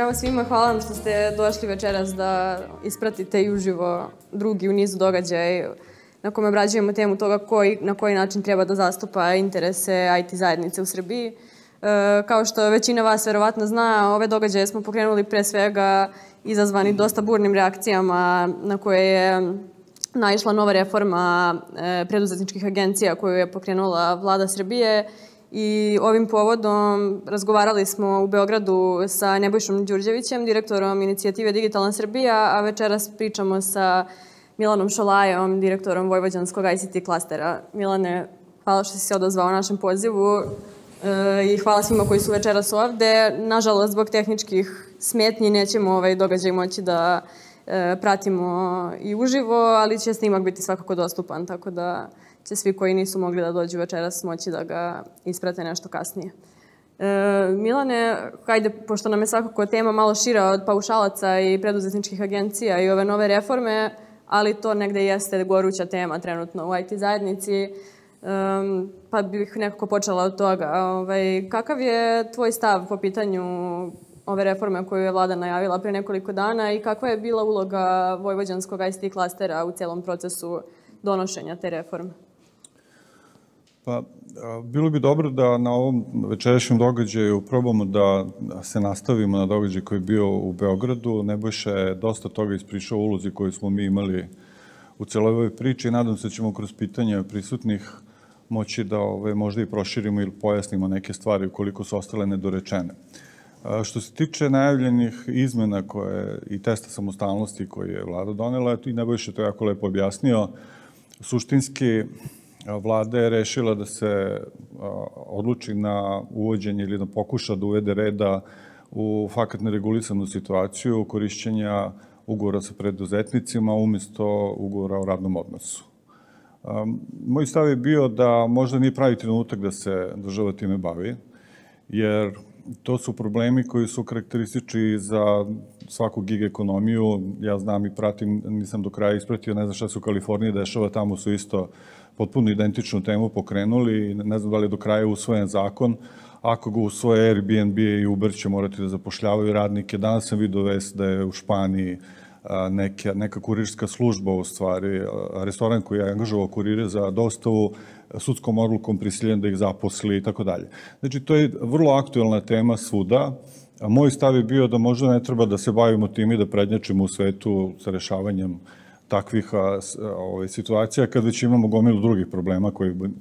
Zdravo svima, hvala vam što ste došli večeras da ispratite i uživo drugi u nizu događaj na kome obrađujemo temu toga na koji način treba da zastupa interese IT zajednice u Srbiji. Kao što većina vas verovatno zna, ove događaje smo pokrenuli pre svega izazvani dosta burnim reakcijama na koje je naišla nova reforma preduzetničkih agencija koju je pokrenula Vlada Srbije. I ovim povodom razgovarali smo u Beogradu sa Nebojšom Đurđevićem, direktorom inicijative Digitalna Srbija, a večeras pričamo sa Milanom Šolajom, direktorom Vojvođanskog ICT klastera. Milane, hvala što si se odazvao našem pozivu i hvala svima koji su večeras ovde. Nažalost, zbog tehničkih smetnji nećemo ovaj događaj moći da pratimo i uživo, ali će snimak biti svakako dostupan, tako da će svi koji nisu mogli da dođu večeras moći da ga isprate nešto kasnije. Milane, hajde, pošto nam je svakako tema malo šira od paušalaca i preduzetničkih agencija i ove nove reforme, ali to negde jeste goruća tema trenutno u IT zajednici, pa bih nekako počela od toga. Kakav je tvoj stav po pitanju ove reforme koju je Vlada najavila pre nekoliko dana i kakva je bila uloga Vojvođanskog ICT klastera u celom procesu donošenja te reforme? Pa, bilo bi dobro da na ovom večerašnjem događaju probamo da se nastavimo na događaj koji je bio u Beogradu. Nebojša je dosta toga ispričao o ulozi koju smo mi imali u celoj ovoj priči i nadam se da ćemo kroz pitanja prisutnih moći da možda i proširimo ili pojasnimo neke stvari ukoliko su ostale nedorečene. Što se tiče najavljenih izmena i testa samostalnosti koje je Vlada donela, i Nebojša to jako lepo objasnio, suštinski Vlada je rešila da se odluči na uvođenje ili da pokuša da uvede reda u fakat neregulisanu situaciju korišćenja ugovora sa preduzetnicima umesto ugovora o radnom odnosu. Moj stav je bio da možda nije pravi trenutak da se država time bavi, jer to su problemi koji su karakteristični za svaku gig ekonomiju. Ja znam i pratim, nisam do kraja ispratio, ne znam šta se u Kaliforniji dešava, tamo su isto potpuno identičnu temu pokrenuli i ne znam da li je do kraja usvojen zakon. Ako ga usvoje Airbnb i Uber će morati da zapošljavaju radnike. Danas sam vidio vest da je u Španiji neka kurirska služba, u stvari, restoran koji je angažovao kurire za dostavu, sudskom odlukom prisiljen da ih zaposli i tako dalje. Znači, to je vrlo aktuelna tema svuda. Moj stav je bio da možda ne treba da se bavimo tim i da prednjačimo u svetu sa rešavanjem takvih situacija, kad već imamo gomilu drugih problema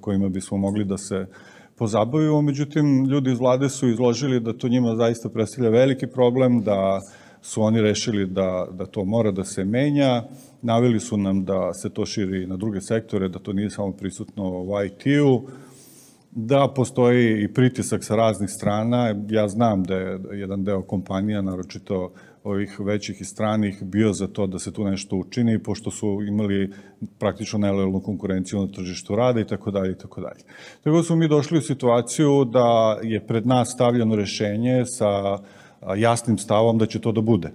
kojima bismo mogli da se pozabavimo. Međutim, ljudi iz vlade su izložili da to njima zaista predstavlja veliki problem, da su oni rešili da to mora da se menja. Naveli su nam da se to širi na druge sektore, da to nije samo prisutno u IT-u, da postoji i pritisak sa raznih strana. Ja znam da je jedan deo kompanija, naročito ovih većih i stranih, bio za to da se tu nešto učini, pošto su imali praktično nelojalnu konkurenciju na tržištu rada i tako dalje i tako dalje. Tako da smo mi došli u situaciju da je pred nas stavljeno rešenje sa jasnim stavom da će to da bude.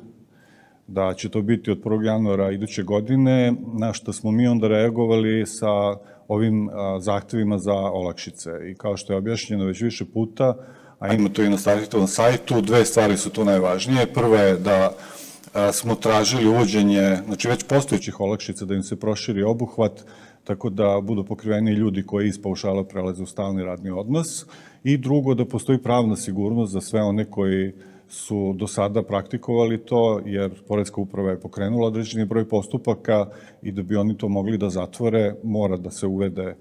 Da će to biti od 1. januara iduće godine, na što smo mi onda reagovali sa ovim zahtevima za olakšice. I kao što je objašnjeno već više puta, a ima to i na startitovom sajtu, dve stvari su tu najvažnije. Prva je da smo tražili uvođenje, znači već postojećih olakšica, da im se proširi obuhvat, tako da budu pokriveni ljudi koji iz paušala prelaze u stalni radni odnos. I drugo, da postoji pravna sigurnost za sve one koji su do sada praktikovali to, jer Poreska uprava je pokrenula određeni broj postupaka i da bi oni to mogli da zatvore, mora da se uvede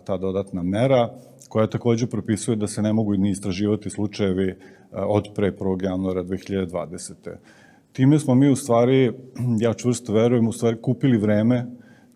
ta dodatna mera, koja takođe propisuje da se ne mogu ni istraživati slučajevi od pre 1. januara 2020. Time smo mi u stvari, ja čvrsto verujem, u stvari kupili vreme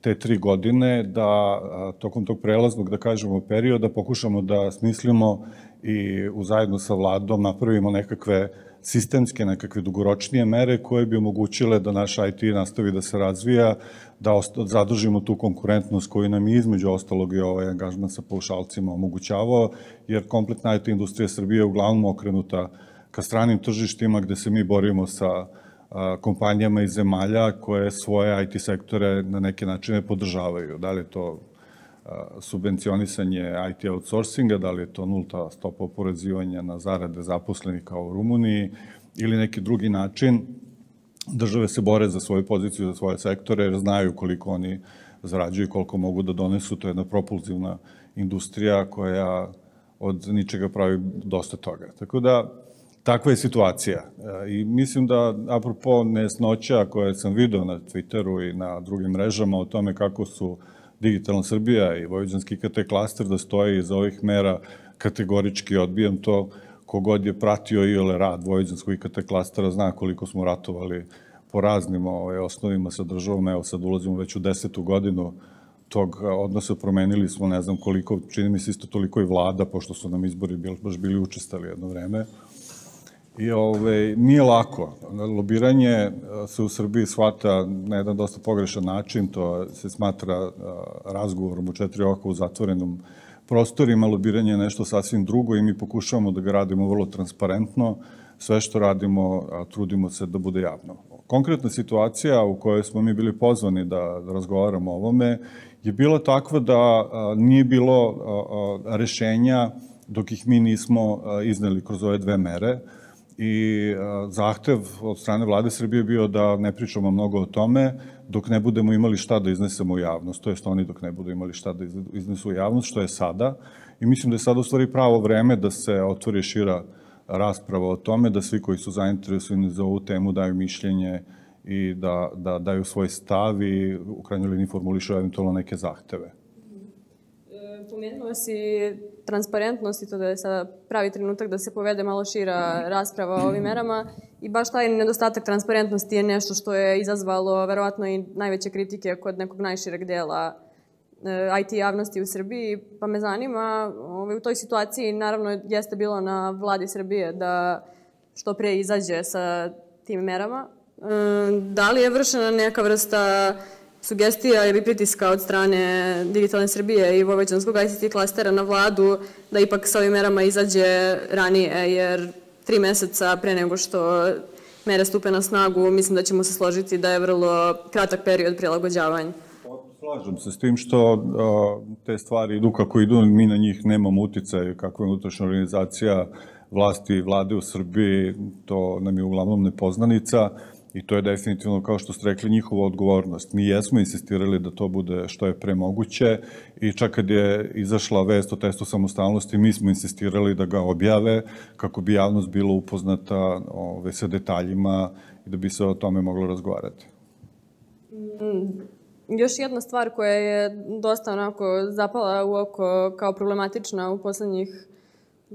te 3 godine da tokom tog prelaznog, da kažemo, perioda pokušamo da smislimo i zajedno sa vladom napravimo nekakve sistemske, nekakve dugoročnije mere koje bi omogućile da naš IT nastavi da se razvija, da zadržimo tu konkurentnost koju nam je između ostalog i ovaj angažman sa paušalcima omogućavao, jer kompletna IT industrija Srbije je uglavnom okrenuta ka stranim tržištima gde se mi borimo sa kompanijama iz zemalja koje svoje IT sektore na neke načine podržavaju. Da li je to subvencionisanje IT outsourcinga, da li je to nulta stopa oporezivanja na zarade zaposlenih kao u Rumuniji, ili neki drugi način, države se bore za svoju poziciju, za svoje sektore, jer znaju koliko oni zarađuju i koliko mogu da donesu. To je jedna propulzivna industrija koja od ničega pravi dosta toga. Tako da, takva je situacija. I mislim da, apropo nesnoća koje sam video na Twitteru i na drugim mrežama o tome kako su Digitalna Srbija i Vojvođanski IKT klaster da stoje iza ovih mera, kategorički odbijam to. Kogod je pratio iole rad Vojvođanskog IKT klastera zna koliko smo ratovali po raznim osnovima sa državom. Evo sad ulazimo već u 10. godinu tog odnosa, promenili smo ne znam koliko, čini mi se isto toliko i vlada, pošto su nam izbori baš bili učestali jedno vreme. I nije lako. Lobiranje se u Srbiji shvata na jedan dosta pogrešan način, to se smatra razgovorom u 4 oka u zatvorenom prostorima. Lobiranje je nešto sasvim drugo i mi pokušavamo da ga radimo vrlo transparentno. Sve što radimo, trudimo se da bude javno. Konkretna situacija u kojoj smo mi bili pozvani da razgovaramo o ovome je bila takva da nije bilo rešenja dok ih mi nismo izneli kroz ove 2 mere. I zahtev od strane vlade Srbije je bio da ne pričamo mnogo o tome dok ne budemo imali šta da iznesemo u javnost, to jest oni dok ne budu imali šta da iznesu u javnost, što je sada. I mislim da je sada u stvari pravo vreme da se otvori šira rasprava o tome, da svi koji su zainteresovani za ovu temu daju mišljenje i da daju svoj stav i u krajnjoj liniji formulišu eventualno neke zahteve. Pomenuo si transparentnost i to da je sada pravi trenutak da se povede malo šira rasprava o ovim merama i baš taj nedostatak transparentnosti je nešto što je izazvalo verovatno i najveće kritike kod nekog najšireg dela IT javnosti u Srbiji, pa me zanima, u toj situaciji naravno jeste bilo na vladi Srbije da što pre izađe sa tim merama. Da li je vršena neka vrsta sugestija ili pritiska od strane Digitalne Srbije i Vojvođanskog ICT klastera na vladu da ipak sa ovim merama izađe ranije, jer 3 meseca pre nego što mere stupe na snagu, mislim da ćemo se složiti da je vrlo kratak period prilagođavanja. Slažem se s tim što te stvari idu kako idu, mi na njih nemamo uticaj, kakva je unutrašnja organizacija vlasti i vlade u Srbiji, to nam je uglavnom nepoznanica. I to je definitivno, kao što ste rekli, njihova odgovornost. Mi jesmo insistirali da to bude što je pre moguće i čak kad je izašla vest o testu samostalnosti, mi smo insistirali da ga objave kako bi javnost bila upoznata sa detaljima i da bi se o tome moglo razgovarati. Još jedna stvar koja je dosta onako zapala u oko kao problematična u poslednjih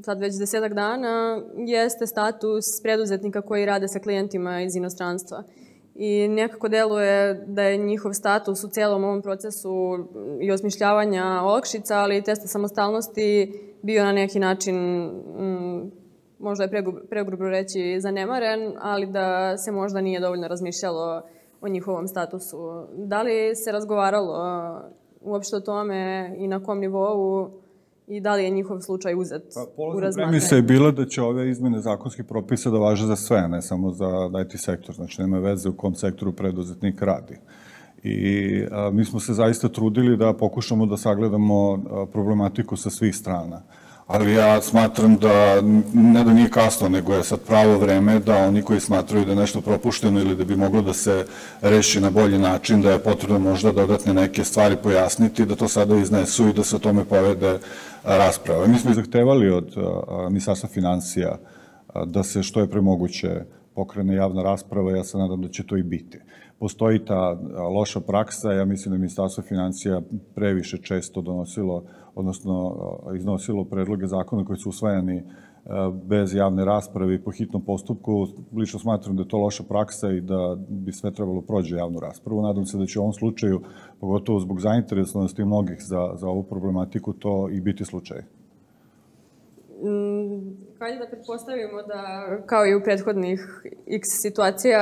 sad već 10 dana, jeste status preduzetnika koji rade sa klijentima iz inostranstva. I nekako deluje da je njihov status u celom ovom procesu i osmišljavanja olakšica, ali i testa samostalnosti bio na neki način, možda je pregrubo reći, zanemaren, ali da se možda nije dovoljno razmišljalo o njihovom statusu. Da li se razgovaralo uopšte o tome i na kom nivou i da li je njihov slučaj uzet u razmatranje? Premisa je bila da će ove izmene zakonskih propisa da važe za sve, ne samo za IT sektor. Znači, nema veze u kom sektoru preduzetnik radi. I mi smo se zaista trudili da pokušamo da sagledamo problematiku sa svih strana. Ali ja smatram da ne da nije kasno, nego je sad pravo vreme da oni koji smatraju da je nešto propušteno ili da bi moglo da se reši na bolji način, da je potrebno možda dodatne neke stvari pojasniti, da to sada iznesu i da se o tome povede rasprava. Mi smo zahtevali od Ministarstva finansija da se što je premoguće pokrene javna rasprava, ja se nadam da će to i biti. Postoji ta loša praksa, ja mislim da je Ministarstvo finansija previše često donosilo, odnosno iznosilo predloge zakona koji su usvajani bez javne rasprave i po hitnom postupku. Lično smatram da je to loša praksa i da bi sve trebalo prođe javnu raspravu. Nadam se da će u ovom slučaju, pogotovo zbog zainteresovanosti mnogih za ovu problematiku, to i biti slučaj. Hajde da pretpostavimo da, kao i u prethodnih x situacija,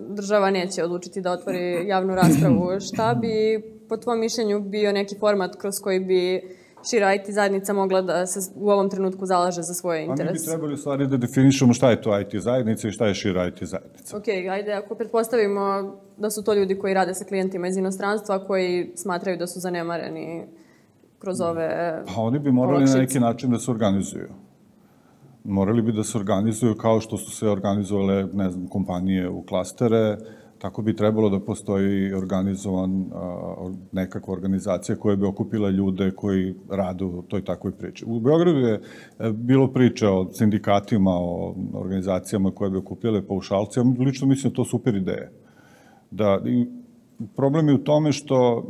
država neće odlučiti da otvori javnu raspravu. Šta bi, po tvom mišljenju, bio neki format kroz koji bi šira IT zajednica mogla da se u ovom trenutku zalaže za svoje interese? A mi bi trebali u stvari da definišemo šta je to IT zajednica i šta je šira IT zajednica. Ok, ajde, ako pretpostavimo da su to ljudi koji rade sa klijentima iz inostranstva, koji smatraju da su zanemareni kroz ove olakšice. Pa oni bi morali na neki način da se organizuju. morali bi da se organizuju kao što su se organizovale, ne znam, kompanije u klastere, tako bi trebalo da postoji nekakva organizacija koja bi okupila ljude koji rade u toj takvoj priči. U Beogradu je bilo priče o sindikatima, o organizacijama koje bi okupljale paušalce. Ja lično mislim da to super ideje. Problem je u tome što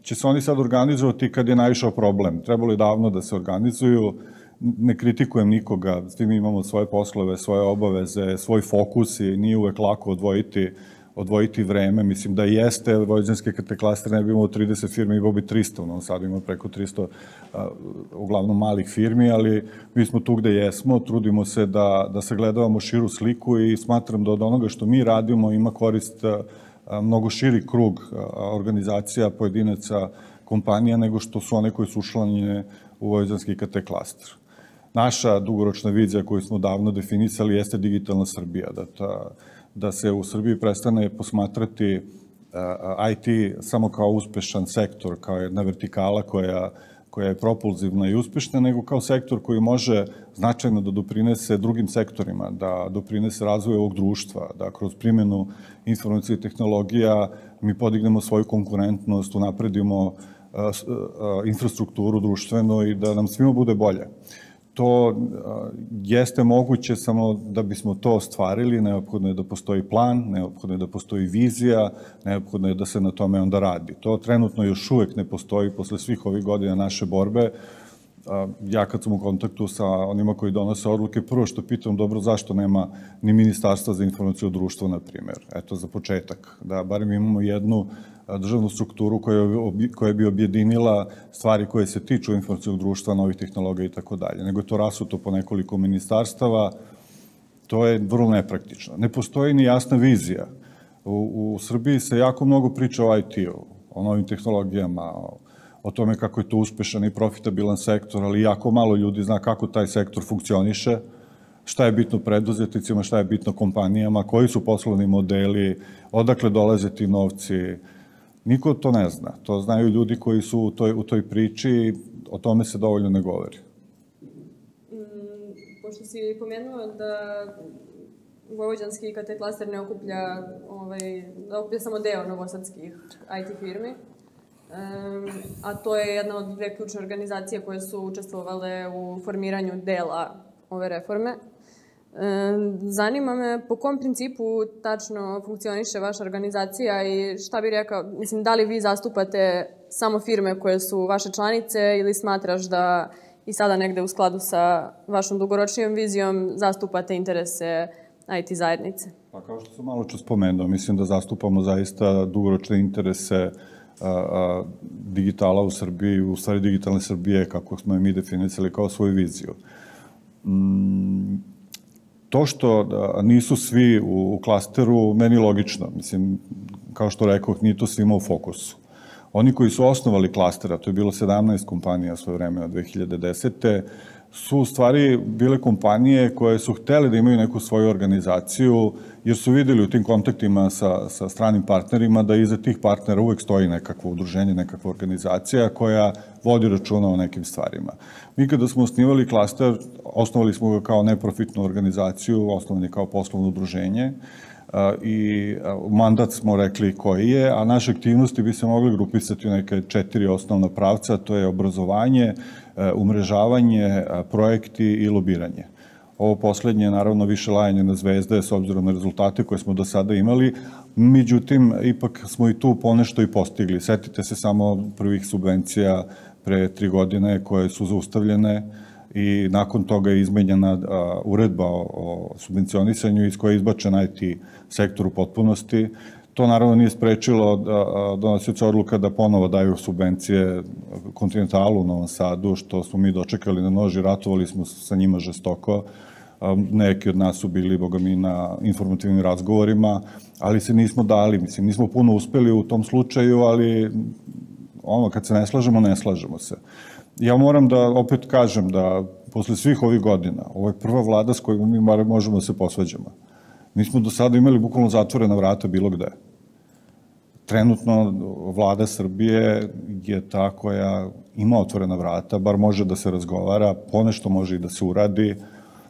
će se oni sad organizovati kad je naišao problem. Trebalo je davno da se organizuju. Ne kritikujem nikoga, s tim imamo svoje poslove, svoje obaveze, svoj fokus i nije uvek lako odvojiti vreme. Mislim da jeste, vojvođanske klaster ne bi imao 30 firmi, imao bi 300, no sad ima preko 300 uglavnom malih firmi, ali mi smo tu gde jesmo, trudimo se da sagledavamo širu sliku i smatram da od onoga što mi radimo ima korist mnogo širi krug organizacija, pojedinaca, kompanija, nego što su one koje su učlanjene u vojvođanski IKT klaster. Naša dugoročna vizija koju smo davno definisali jeste digitalna Srbija, da se u Srbiji prestane posmatrati IT samo kao uspešan sektor, kao jedna vertikala koja je propulzivna i uspešna, nego kao sektor koji može značajno da doprinese drugim sektorima, da doprinese razvoju ovog društva, da kroz primjenu informacije i tehnologija mi podignemo svoju konkurentnost, unapredimo infrastrukturu društvenu i da nam svima bude bolje. To jeste moguće, samo da bismo to ostvarili, neophodno je da postoji plan, neophodno je da postoji vizija, neophodno je da se na tome onda radi. To trenutno još uvek ne postoji posle svih ovih godina naše borbe. Ja kad sam u kontaktu sa onima koji donose odluke, prvo što pitam, dobro, zašto nema ni Ministarstva za informaciju društva, na primjer? Eto, za početak, da barem imamo jednu državnu strukturu koja bi objedinila stvari koje se tiču informacijog društva, novih tehnologija i tako dalje. Nego je to rasuto po nekoliko ministarstava, to je vrlo nepraktično. Ne postoji ni jasna vizija. U Srbiji se jako mnogo priča o IT-u, o novim tehnologijama, o tome kako je to uspešan i profitabilan sektor, ali jako malo ljudi zna kako taj sektor funkcioniše, šta je bitno preduzetnicima, šta je bitno kompanijama, koji su poslovni modeli, odakle dolaze ti novci. Niko to ne zna. To znaju ljudi koji su u toj priči, o tome se dovoljno ne govori. Pošto si pomenuo da vojvođanski IKT klaster ne okuplja samo deo novosadskih IT firmi, a to je jedna od dve ključne organizacije koje su učestvovale u formiranju dela ove reforme. Zanima me po kom principu tačno funkcioniše vaša organizacija i šta bi rekao, mislim, da li vi zastupate samo firme koje su vaše članice ili smatraš da i sada negde u skladu sa vašom dugoročnijom vizijom zastupate interese IT zajednice? Pa kao što sam malo čas spomenuo, mislim da zastupamo zaista dugoročne interese digitala u Srbiji, u stvari digitalne Srbije, kako smo je mi definisali kao svoju viziju. To što nisu svi u klasteru, meni logično. Mislim, kao što rekoh, nije to svima u fokusu. Oni koji su osnovali klastera, to je bilo 17 kompanija svoje vreme od 2010. su u stvari bile kompanije koje su htele da imaju neku svoju organizaciju, jer su videli u tim kontaktima sa stranim partnerima da iza tih partnera uvek stoji nekakvo udruženje, nekakva organizacija koja vodi računa o nekim stvarima. Mi kada smo osnivali klaster, osnovali smo ga kao neprofitnu organizaciju, osnovani kao poslovno udruženje i mandat smo rekli koji je, a naše aktivnosti bi se mogli grupisati u neke 4 osnovna pravca, to je obrazovanje, umrežavanje, projekti i lobiranje. Ovo poslednje je naravno više lajanje na zvezde s obzirom na rezultate koje smo do sada imali, međutim, ipak smo i tu ponešto i postigli. Setite se samo prvih subvencija pre 3 godine koje su zaustavljene i nakon toga je izmenjena uredba o subvencionisanju iz koje je izbačen IT sektor u potpunosti. To naravno nije sprečilo donosioce odluka da ponovo daju subvencije Kontinentalu u Novom Sadu, što smo mi dočekali na nož i ratovali smo sa njima žestoko. Neki od nas su bili, boga mi, na informativnim razgovorima, ali se nismo dali. Mislim, nismo puno uspeli u tom slučaju, ali kad se ne slažemo, ne slažemo se. Ja moram da opet kažem da posle svih ovih godina, ovo je prva vlada s kojom mi možemo da se posvađamo. Mi smo do sada imali bukvalno zatvorena vrata bilo gde. Trenutno vlada Srbije je ta koja ima otvorena vrata, bar može da se razgovara, ponešto može i da se uradi.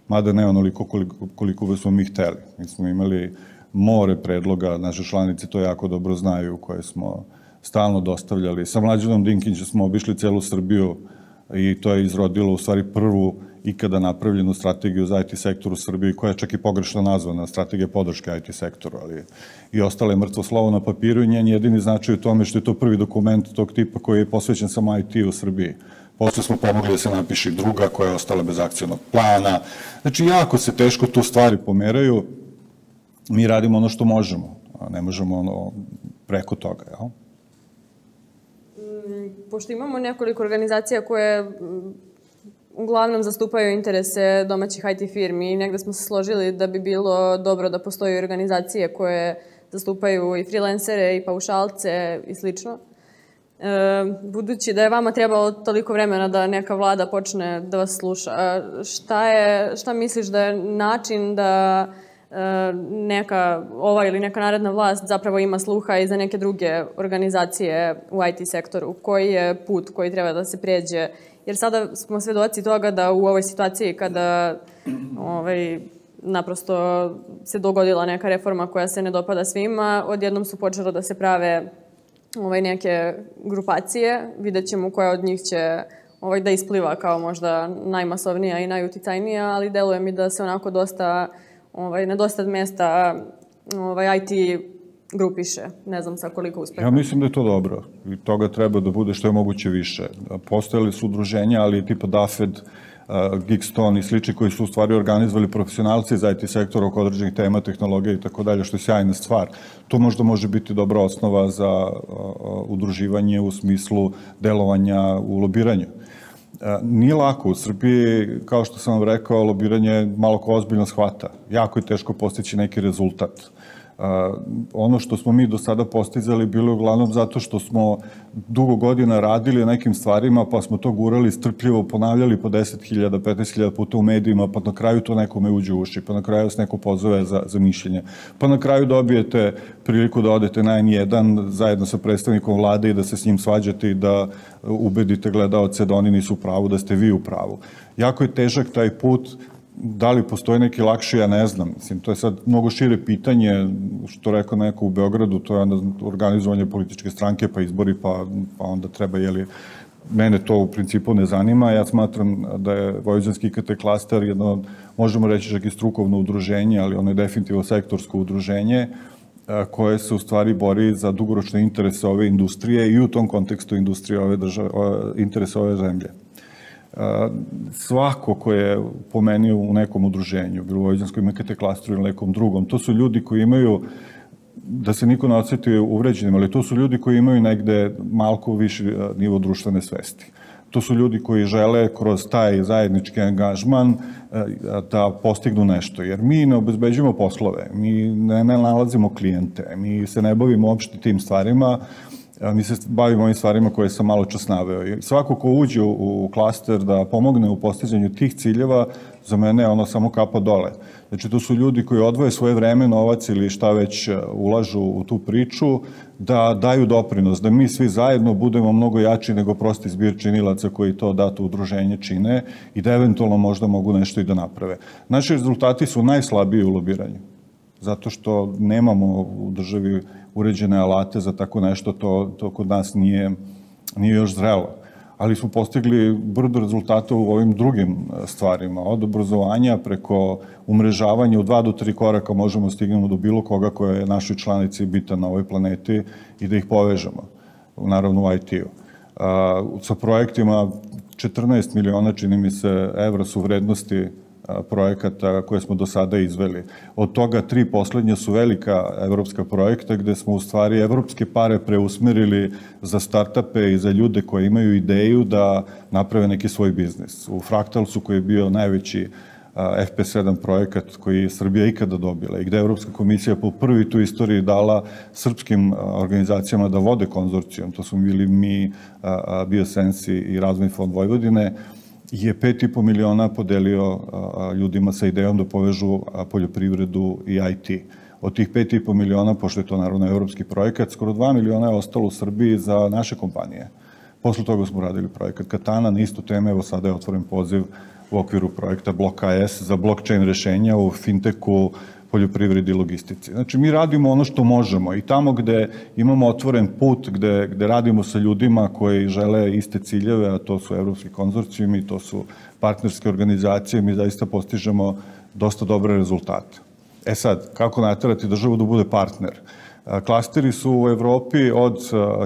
mada ne onoliko koliko smo mi hteli. Mi smo imali more predloga, naše članice to jako dobro znaju, koje smo stalno dostavljali. Sa Mlađanom Dinkićem smo obišli celu Srbiju i to je izrodilo u stvari prvu ikada napravljenu strategiju za IT sektor u Srbiji, koja je čak i pogrešno nazvana strategija podrške IT sektoru, ali i ostale mrtvo slovo na papiru i njen jedini značaj u tome što je to prvi dokument tog tipa koji je posvećen samo IT u Srbiji. Posle smo pomogli da se napiše druga koja je ostala bez akcionog plana. Znači, jako se teško tu stvari pomeraju. Mi radimo ono što možemo, a ne možemo ono preko toga, jel? Pošto imamo nekoliko organizacija koje uglavnom zastupaju interese domaćih IT firmi i negde smo se složili da bi bilo dobro da postoji organizacije koje zastupaju i freelancere i paušalce i slično. Budući da je vama trebalo toliko vremena da neka vlada počne da vas sluša, šta misliš da je način da ova ili neka naredna vlast zapravo ima sluha i za neke druge organizacije u IT sektoru? Koji je put koji treba da se pređe? Jer sada smo svedoci toga da u ovoj situaciji kada naprosto se dogodila neka reforma koja se ne dopada svima, odjednom su počelo da se prave neke grupacije. Vidjet ćemo koja od njih će da ispliva kao možda najmasovnija i najuticajnija, ali deluje mi da se onako na dosta mesta IT grupiše. Ne znam sa koliko uspeha. Ja mislim da je to dobro i toga treba da bude što je moguće više. Postojali su udruženja, ali tipa DAFED, Geekstone i slični koji su u stvari organizovali profesionalci za IT sektor oko određenih tema, tehnologije i tako dalje, što je sjajna stvar. To možda može biti dobra osnova za udruživanje u smislu delovanja u lobiranju. Nije lako. U Srbiji, kao što sam vam rekao, lobiranje malo ko ozbiljno shvata. Jako je teško postići neki rezultat. Ono što smo mi do sada postizali bilo je uglavnom zato što smo dugo godina radili na nekim stvarima, pa smo to gurali strpljivo, ponavljali po 10.000, 15.000 puta u medijima, pa na kraju to nekome uđe u uši, pa na kraju vas neko pozove za mišljenje. Pa na kraju dobijete priliku da odete na N1 zajedno sa predstavnikom vlade i da se s njim svađate i da ubedite gledaoce da oni nisu u pravu, da ste vi u pravu. Jako je težak taj put. Da li postoji neki lakši, ja ne znam. Mislim, to je sad mnogo šire pitanje, što rekao neko u Beogradu, to je organizovanje političke stranke, pa izbori, pa onda treba, mene to u principu ne zanima. Ja smatram da je Vojvođanski IKT klaster jedno, možemo reći čak i strukovno udruženje, ali ono je definitivno sektorsko udruženje, koje se u stvari bori za dugoročne interese ove industrije i u tom kontekstu industrije ove države, interese ove zemlje. Svako ko je pomenio u nekom udruženju, bilo u Vojvođanskom IKT klastru ili nekom drugom, to su ljudi koji imaju, da se niko ne odsjeti uvređenim, ali to su ljudi koji imaju negde malko viši nivo društvene svesti. To su ljudi koji žele kroz taj zajednički angažman da postignu nešto, jer mi ne obezbeđujemo poslove, mi ne nalazimo klijente, mi se ne bavimo uopšte tim stvarima, mi se bavimo ovim stvarima koje sam malo čas naveo. Svako ko uđe u klaster da pomogne u postizanju tih ciljeva, za mene je ono samo kapa dole. Znači, to su ljudi koji odvoje svoje vreme, novac ili šta već ulažu u tu priču, da daju doprinos, da mi svi zajedno budemo mnogo jači nego prosti zbir činilaca koji to dato udruženje čine i da eventualno možda mogu nešto i da naprave. Naši rezultati su najslabiji u lobiranju, zato što nemamo u državi uređene alate za tako nešto, to kod nas nije još zrelo. Ali smo postigli brdo rezultata u ovim drugim stvarima, od obrazovanja preko umrežavanja u 2 do 3 koraka možemo stignemo do bilo koga koja je našoj članici bitan na ovoj planeti i da ih povežemo, naravno u IT-u. Sa projektima 14 miliona, čini mi se, evra su vrednosti projekata koje smo do sada izveli. Od toga 3 poslednja su velika evropska projekta gde smo u stvari evropske pare preusmerili za startupe i za ljude koji imaju ideju da naprave neki svoj biznis. U Fraktalsu koji je bio najveći FP7 projekat koji je Srbija ikada dobila i gde Evropska komisija po prvi tu istoriji dala srpskim organizacijama da vode konzorcijom, to smo bili mi, Biosensi i Razvojni fond Vojvodine, je 5,5 miliona podelio ljudima sa idejom da povežu poljoprivredu i IT. Od tih 5,5 miliona, pošto je to naravno evropski projekat, skoro 2 miliona je ostalo u Srbiji za naše kompanije. Posle toga smo radili projekat Katana na istu temu, evo sada je otvoren poziv u okviru projekta Blok AS za blockchain rešenja u fintechu, poljoprivredi i logistici. Znači, mi radimo ono što možemo i tamo gde imamo otvoren put, gde radimo sa ljudima koji žele iste ciljeve, a to su evropski konzorcijumi, to su partnerske organizacije, mi zaista postižemo dosta dobre rezultate. E sad, kako naterati državu da bude partner? Klasteri su u Evropi od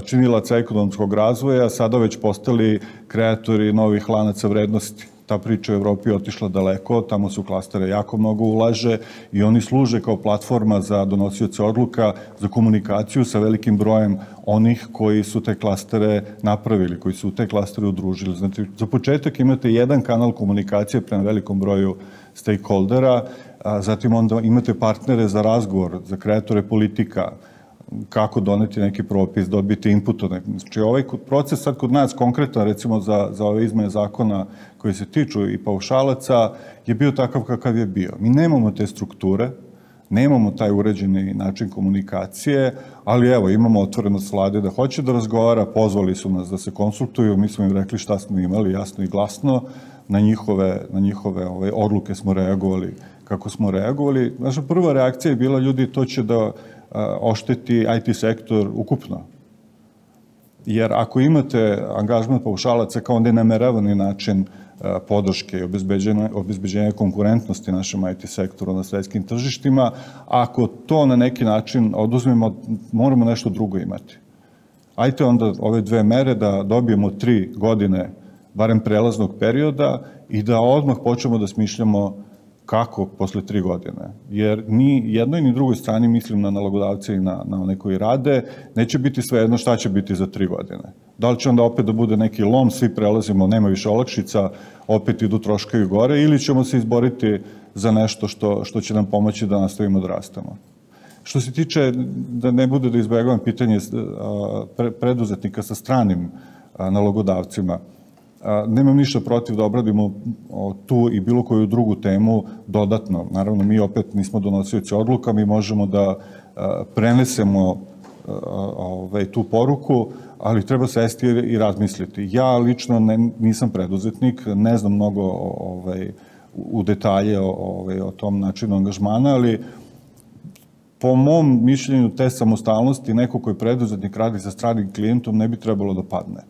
činilaca ekonomskog razvoja sada već postali kreatori novih lanaca vrednosti. Ta priča u Evropi je otišla daleko, tamo se u klastere jako mnogo ulaže i oni služe kao platforma za donosioce odluka, za komunikaciju sa velikim brojem onih koji su te klastere napravili, koji su u te klastere udružili. Znači, za početak imate jedan kanal komunikacije prema velikom broju stakeholdera, zatim onda imate partnere za razgovor, za kreatore politika, kako doneti neki propis, dobiti input. Znači, ovaj proces sad kod nas konkretno, recimo za ove izmene zakona koji se tiču i paušalaca, je bio takav kakav je bio. Mi nemamo te strukture, nemamo taj uređeni način komunikacije, ali evo, imamo otvorenost vlade da hoće da razgovara, pozvali su nas da se konsultuju, mi smo im rekli šta smo imali, jasno i glasno, na njihove odluke smo reagovali kako smo reagovali. Naša prva reakcija je bila, ljudi, to će da ošteti IT sektor ukupno. Jer ako imate angažman paušalaca kao nenameravani način podrške i obezbeđenja konkurentnosti našem IT sektoru na svetskim tržištima, ako to na neki način oduzmemo, moramo nešto drugo imati. Ajte onda ove dve mere da dobijemo 3 godine, barem prelaznog perioda, i da odmah počnemo da smišljamo kako posle 3 godine. Jer ni jednoj ni drugoj strani, mislim na nalogodavce i na one koji rade, neće biti svejedno šta će biti za 3 godine. Da li će onda opet da bude neki lom, svi prelazimo, nema više olakšica, opet idu troškovi gore, ili ćemo se izboriti za nešto što će nam pomoći da nastavimo da rastemo. Što se tiče, da ne bude da izbegavam pitanje preduzetnika sa stranim nalogodavcima, nemam ništa protiv da obradimo tu i bilo koju drugu temu dodatno. Naravno, mi opet nismo donosioci odluka, mi možemo da prenesemo tu poruku, ali treba sesti i razmisliti. Ja lično nisam preduzetnik, ne znam mnogo u detalje o tom načinu angažmana, ali po mom mišljenju te samostalnosti neko koji preduzetnik radi sa stranim klijentom ne bi trebalo da padne.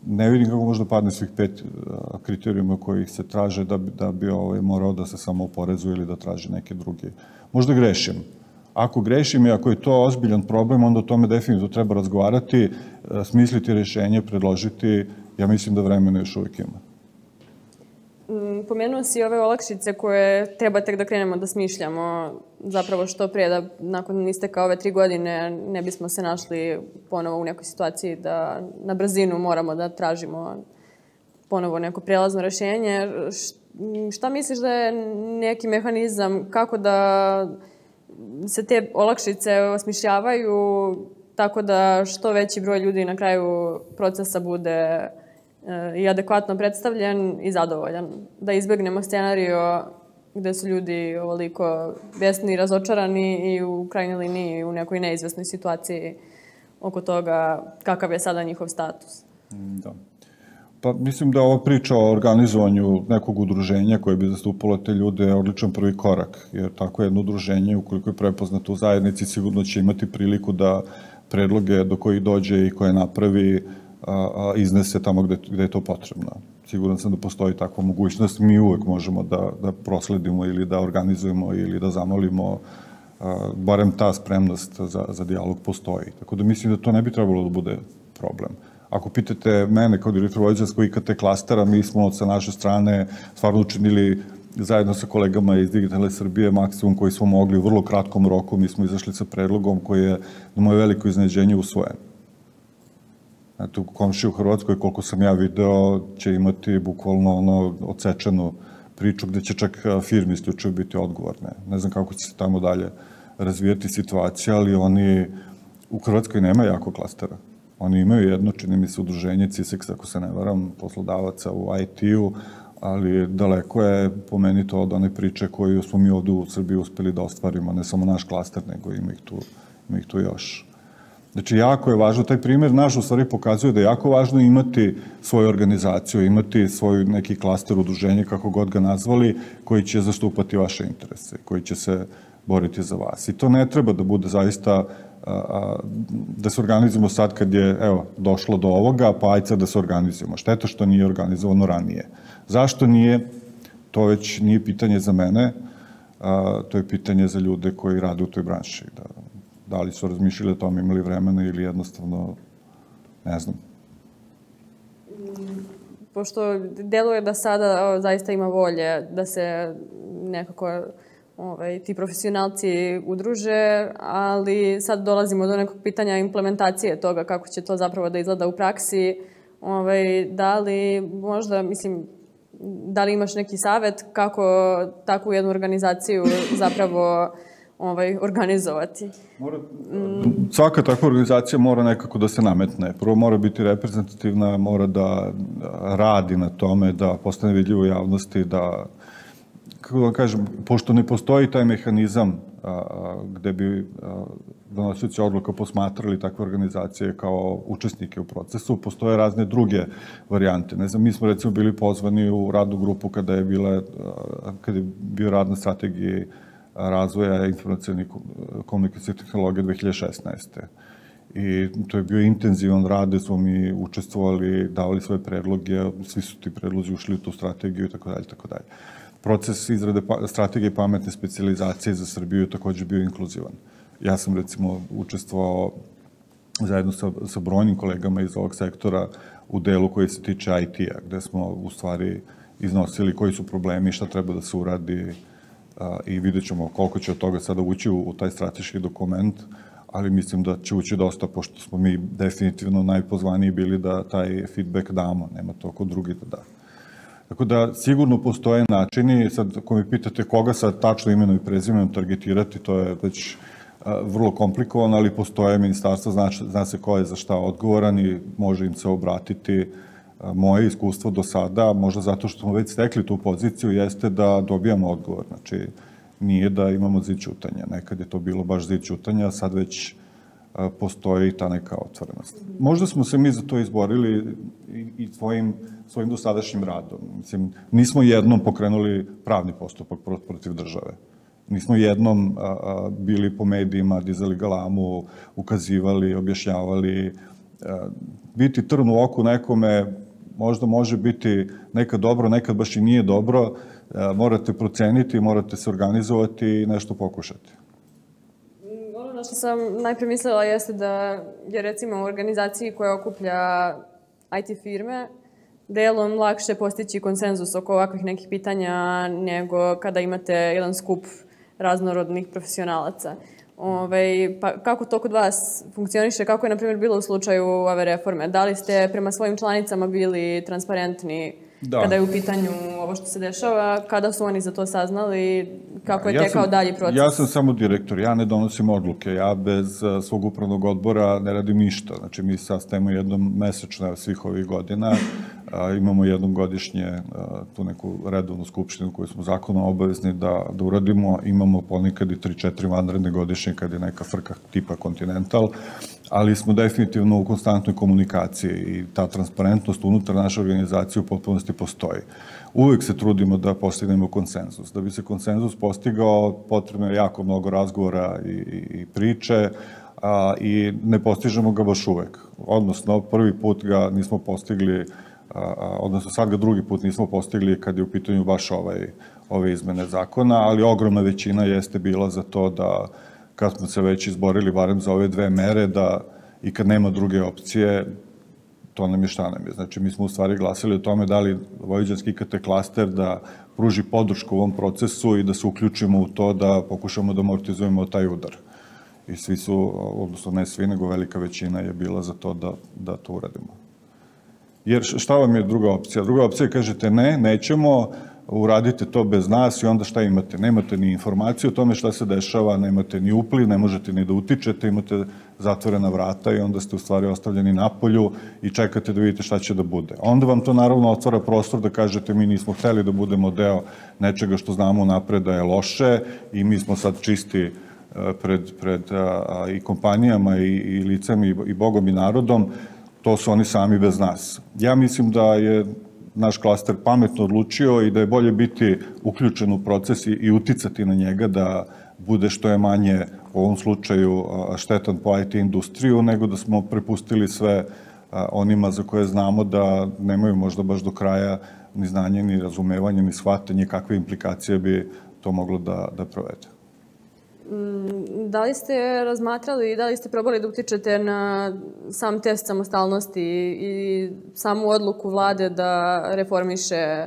Ne vidim kako može da padne svih 5 kriterijuma koji se traže da bi morao da se samo oporezuje ili da traži neke druge. Možda grešim. Ako grešim i ako je to ozbiljan problem, onda o tome definitivno treba razgovarati, smisliti rešenje, predložiti. Ja mislim da vremena još uvijek ima. Pomenuo si ove olakšice koje treba tek da krenemo da smišljamo, zapravo što prije da nakon isteka ove 3 godine ne bismo se našli ponovo u nekoj situaciji da na brzinu moramo da tražimo ponovo neko prijelazno rešenje. Šta misliš da je neki mehanizam kako da se te olakšice osmišljavaju tako da što veći broj ljudi na kraju procesa bude i adekvatno predstavljen i zadovoljan. Da izbegnemo scenario gde su ljudi ovoliko besni i razočarani i u krajnjoj liniji u nekoj neizvesnoj situaciji oko toga kakav je sada njihov status. Da. Pa mislim da ova priča o organizovanju nekog udruženja koje bi zastupalo te ljude je odličan prvi korak, jer tako jedno udruženje, ukoliko je prepoznato u zajednici, sigurno će imati priliku da predloge do kojih dođe i koje napravi iznese tamo gde je to potrebno. Siguran sam da postoji takva mogućnost. Mi uvek možemo da prosledimo ili da organizujemo ili da zamolimo, barem ta spremnost za dijalog postoji. Tako da mislim da to ne bi trebalo da bude problem. Ako pitate mene kao direktor vojvođanskog IKT klastera, mi smo sa naše strane stvarno učinili zajedno sa kolegama iz Digitalne Srbije maksimum koji smo mogli u vrlo kratkom roku. Mi smo izašli sa predlogom koji je na moje veliko iznenađenje usvojen. Eto, komšije u Hrvatskoj, koliko sam ja video, će imati bukvalno odsečenu priču gde će čak firme isključivo biti odgovorne. Ne znam kako će se tamo dalje razvijati situacija, ali oni u Hrvatskoj nema jako klastera. Oni imaju jedno, čini mi se, udruženje CISEX, ako se ne varam, poslodavaca u IT-u, ali daleko je po meni to od one priče koju smo mi ovde u Srbiji uspeli da ostvarimo, ne samo naš klaster, nego ima ih tu još. Znači, jako je važno, taj primjer naš u stvari pokazuje da je jako važno imati svoju organizaciju, imati svoj neki klaster udruženja, kako god ga nazvali, koji će zastupati vaše interese, koji će se boriti za vas. I to ne treba da bude zaista da se organizujemo sad kad je, evo, došlo do ovoga, pa ajde sad da se organizujemo. Šteta što nije organizovano ranije. Zašto nije? To već nije pitanje za mene, to je pitanje za ljude koji rade u toj branši. Da li su razmišljali o tome, imali vremena ili jednostavno, ne znam. Pošto deluje da sada zaista ima volje da se nekako ti profesionalci udruže, ali sad dolazimo do nekog pitanja implementacije toga, kako će to zapravo da izgleda u praksi. Da li možda, mislim, da li imaš neki savet kako takvu jednu organizaciju zapravo organizovati? Svaka takva organizacija mora nekako da se nametne. Prvo mora biti reprezentativna, mora da radi na tome, da postane vidljivo u javnosti, da, kako da vam kažem, pošto ne postoji taj mehanizam gde bi donosioci odluka posmatrali takve organizacije kao učesnike u procesu, postoje razne druge varijante. Ne znam, mi smo recimo bili pozvani u radnu grupu kada je bio rad na strategiji razvoja informacijalnih komunikacijnih tehnologija 2016. I to je bio intenzivan rad gde smo mi učestvovali, davali svoje predloge, svi su ti predlozi ušli u tu strategiju i tako dalje, tako dalje. Proces izrade strategije pametne specijalizacije za Srbiju je takođe bio inkluzivan. Ja sam recimo učestvovao zajedno sa brojnim kolegama iz ovog sektora u delu koji se tiče IT-a, gde smo u stvari iznosili koji su problemi, šta treba da se uradi i vidjet ćemo koliko će od toga sada ući u taj strateški dokument, ali mislim da će ući dosta, pošto smo mi definitivno najpozvaniji bili da taj feedback damo, nema to ko drugi da da. Tako da sigurno postoje načini, sad ako me pitate koga sad tačno imenom i prezimenom targetirati, to je već vrlo komplikovano, ali postoje ministarstvo, zna se ko je za šta odgovoran i može im se obratiti. Moje iskustvo do sada, možda zato što smo već stekli tu poziciju, jeste da dobijamo odgovor. Znači, nije da imamo zid ćutanja. Nekad je to bilo baš zid ćutanja, a sad već postoji ta neka otvorenost. Možda smo se mi za to izborili i svojim dosadašnjim radom. Mislim, nismo jednom pokrenuli pravni postupak protiv države. Nismo jednom bili po medijima, dizali galamu, ukazivali, objašnjavali. Biti trn u oku nekome možda može biti nekad dobro, nekad baš i nije dobro. Morate proceniti, morate se organizovati i nešto pokušati. Ono na što sam najpre mislila jeste da je recimo u organizaciji koja okuplja IT firme delom lakše postići konsenzus oko ovakvih nekih pitanja nego kada imate jedan skup raznorodnih profesionalaca. Pa kako to kod vas funkcioniše? Kako je, na primjer, bilo u slučaju ove reforme? Da li ste prema svojim članicama bili transparentni kada je u pitanju ovo što se dešava? Kada su oni za to saznali? Kako je tekao dalji proces? Ja sam samo direktor, ja ne donosim odluke. Ja bez svog upravnog odbora ne radim ništa. Znači, mi sastajemo jednom mesečno svih ovih godina. Imamo jednom godišnje tu neku redovnu skupštinu koju smo zakonom obavezni da uradimo. Imamo ponekad i 3-4 vanredne godišnje kad je neka frka tipa Continental, ali smo definitivno u konstantnoj komunikaciji i ta transparentnost unutar naše organizacije u potpunosti postoji. Uvek se trudimo da postignemo konsenzus. Da bi se konsenzus postigao, potrebno je jako mnogo razgovora i priče i ne postižemo ga baš uvek. Odnosno, prvi put ga nismo postigli, odnosno sad ga drugi put nismo postigli kad je u pitanju baš ove izmene zakona, ali ogromna većina jeste bila za to da kad smo se već izborili barem za ove dve mere, da i kad nema druge opcije, to nam je šta nam je. Znači, mi smo u stvari glasili o tome da li Vojvođanski IKT klaster da pruži podršku u ovom procesu i da se uključimo u to da pokušamo da amortizujemo taj udar. I svi su, odnosno ne svi, nego velika većina je bila za to da to uradimo. Jer šta vam je druga opcija? Druga opcija je kažete ne, nećemo, uradite to bez nas i onda šta imate? Nemate ni informaciju o tome šta se dešava, nemate ni upliv, ne možete ni da utičete, imate zatvorena vrata i onda ste u stvari ostavljeni napolju i čekate da vidite šta će da bude. Onda vam to naravno otvara prostor da kažete mi nismo hteli da budemo deo nečega što znamo napred da je loše i mi smo sad čisti pred i kompanijama i licem i Bogom i narodom, to su oni sami bez nas. Ja mislim da je naš klaster pametno odlučio i da je bolje biti uključen u proces i uticati na njega da bude što je manje u ovom slučaju štetan po IT industriju, nego da smo prepustili sve onima za koje znamo da nemaju možda baš do kraja ni znanje, ni razumevanje, ni shvatanje kakve implikacije bi to moglo da provede. Da li ste razmatrali i da li ste probali da utičete na sam test samostalnosti i samu odluku vlade da reformiše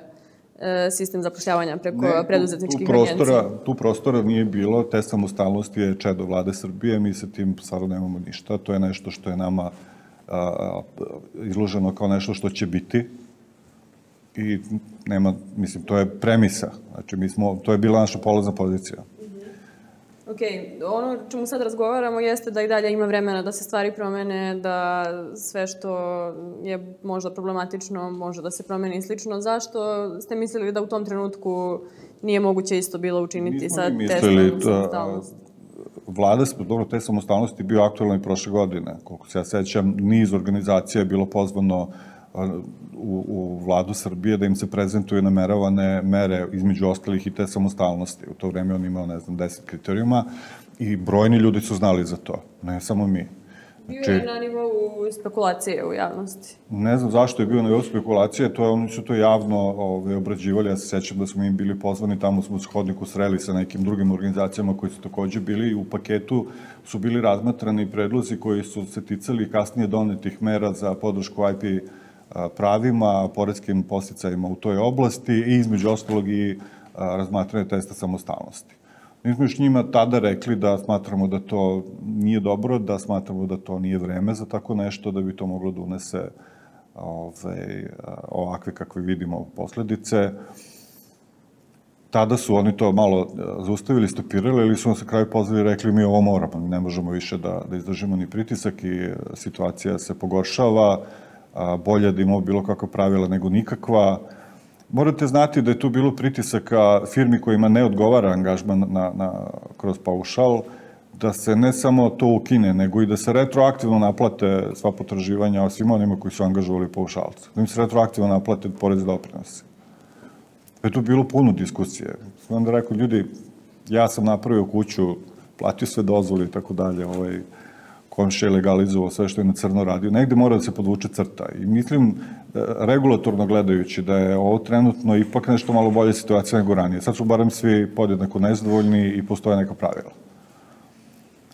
sistem zapošljavanja preko preduzetničkih agencija? Tu prostora nije bilo. Test samostalnosti je čedo vlade Srbije. Mi sa tim stvarno nemamo ništa. To je nešto što je nama izloženo kao nešto što će biti. I nema, mislim, to je premisa. Znači, to je bila naša polazna pozicija. Ok, ono čemu sad razgovaramo jeste da i dalje ima vremena da se stvari promene, da sve što je možda problematično može da se promeni i slično. Zašto ste mislili da u tom trenutku nije moguće isto bilo učiniti sa testom samostalnosti? Vlada, dobro, test samostalnosti je bio aktualno i prošle godine. Koliko se ja sećam, niz organizacija je bilo pozvano u vladu Srbije da im se prezentuju nameravane mere između ostalih i te samostalnosti. U to vreme on imao, 10 kriterijuma i brojni ljudi su znali za to, ne samo mi. Bio je na nivou spekulacije u javnosti. Ne znam zašto je bio na nivou spekulacije, oni su to javno obrađivali. Ja se sećam da smo im bili pozvani, tamo smo u hodniku sreli sa nekim drugim organizacijama koji su takođe bili i u paketu su bili razmatrani predlozi koji su se ticali kasnije donetih mera za podršku IP pravima, poreskim podsticajima u toj oblasti i između ostalog i razmatranje testa samostalnosti. Mi smo još njima tada rekli da smatramo da to nije dobro, da smatramo da to nije vreme za tako nešto, da bi to moglo da unese ovakve kakve vidimo posledice. Tada su oni to malo zaustavili, stopirali, ili su nas na kraju pozvali i rekli mi ovo moramo, ne možemo više da izdržimo ni pritisak i situacija se pogoršava, bolje da imamo bilo kakva pravila nego nikakva. Morate znati da je tu bilo pritisaka firmi kojima ne odgovara angažman kroz paušal, da se ne samo to ukine, nego i da se retroaktivno naplate sva potraživanja svima onima koji su angažovali paušalce. Da im se retroaktivno naplate porez i doprinose. Je tu bilo puno diskusije. Sam onda rekao, ljudi, ja sam napravio kuću, platio sve dozvoli i tako dalje, komšija je legalizovao sve što je na crno radio. Negde mora da se podvuče crta. I mislim, regulatorno gledajući, da je ovo trenutno ipak nešto malo bolje situacija nego ranije. Sad su barem svi podjednako nezadovoljni i postoje neka pravila.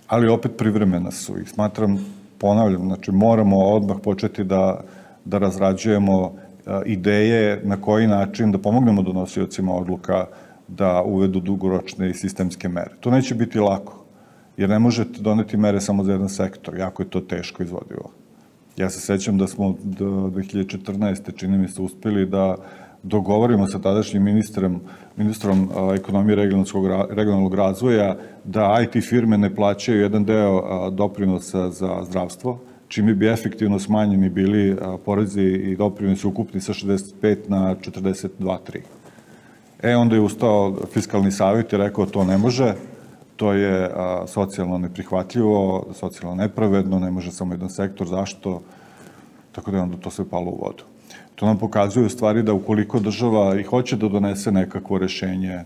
Ali opet privremena su. I smatram, ponavljam, znači moramo odmah početi da razrađujemo ideje na koji način da pomognemo donosiocima odluka da uvedu dugoročne i sistemske mere. To neće biti lako, jer ne možete doneti mere samo za jedan sektor. Jako je to teško izvodivo. Ja se sećam da smo do 2014. čini mi se uspeli da dogovorimo sa tadašnjim ministrom ekonomije regionalnog razvoja da IT firme ne plaćaju jedan deo doprinosa za zdravstvo, čime bi efektivno smanjeni bili porezi i doprinosi ukupni sa 65 na 42,3. Onda je ustao Fiskalni savjet i rekao to ne može, to je socijalno neprihvatljivo, socijalno nepravedno, ne može samo jedan sektor, zašto? Tako da je onda to sve palo u vodu. To nam pokazuje u stvari da ukoliko država i hoće da donese nekakvo rešenje,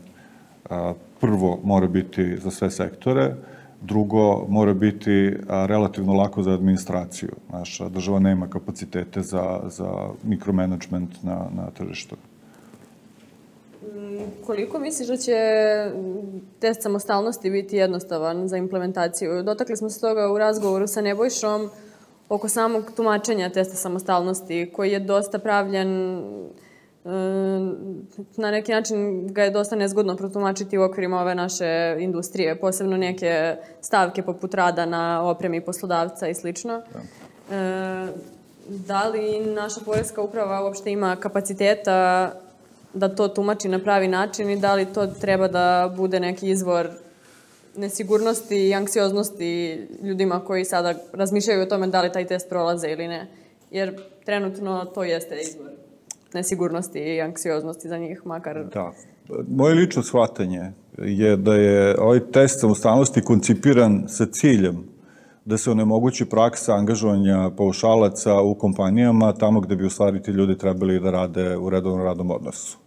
prvo mora biti za sve sektore, drugo mora biti relativno lako za administraciju. Naša država nema kapacitete za mikromanagement na tržištu. Koliko misliš da će test samostalnosti biti jednostavan za implementaciju? Dotakli smo se toga u razgovoru sa Nebojšom oko samog tumačenja testa samostalnosti, koji je dosta pravljen, na neki način ga je dosta nezgodno protumačiti u okvirima ove naše industrije, posebno neke stavke poput rada na opremi poslodavca i slično. Da li naša poreska uprava uopšte ima kapaciteta da to tumači na pravi način i da li to treba da bude neki izvor nesigurnosti i anksioznosti ljudima koji sada razmišljaju o tome da li taj test prolaze ili ne. Jer trenutno to jeste izvor nesigurnosti i anksioznosti za njih, makar Moje lično shvatanje je da je ovaj test samostalnosti koncipiran sa ciljem da se onemogući praksa angažovanja paušalaca u kompanijama tamo gde bi u stvari ti ljudi trebali da rade u redovnom radnom odnosu.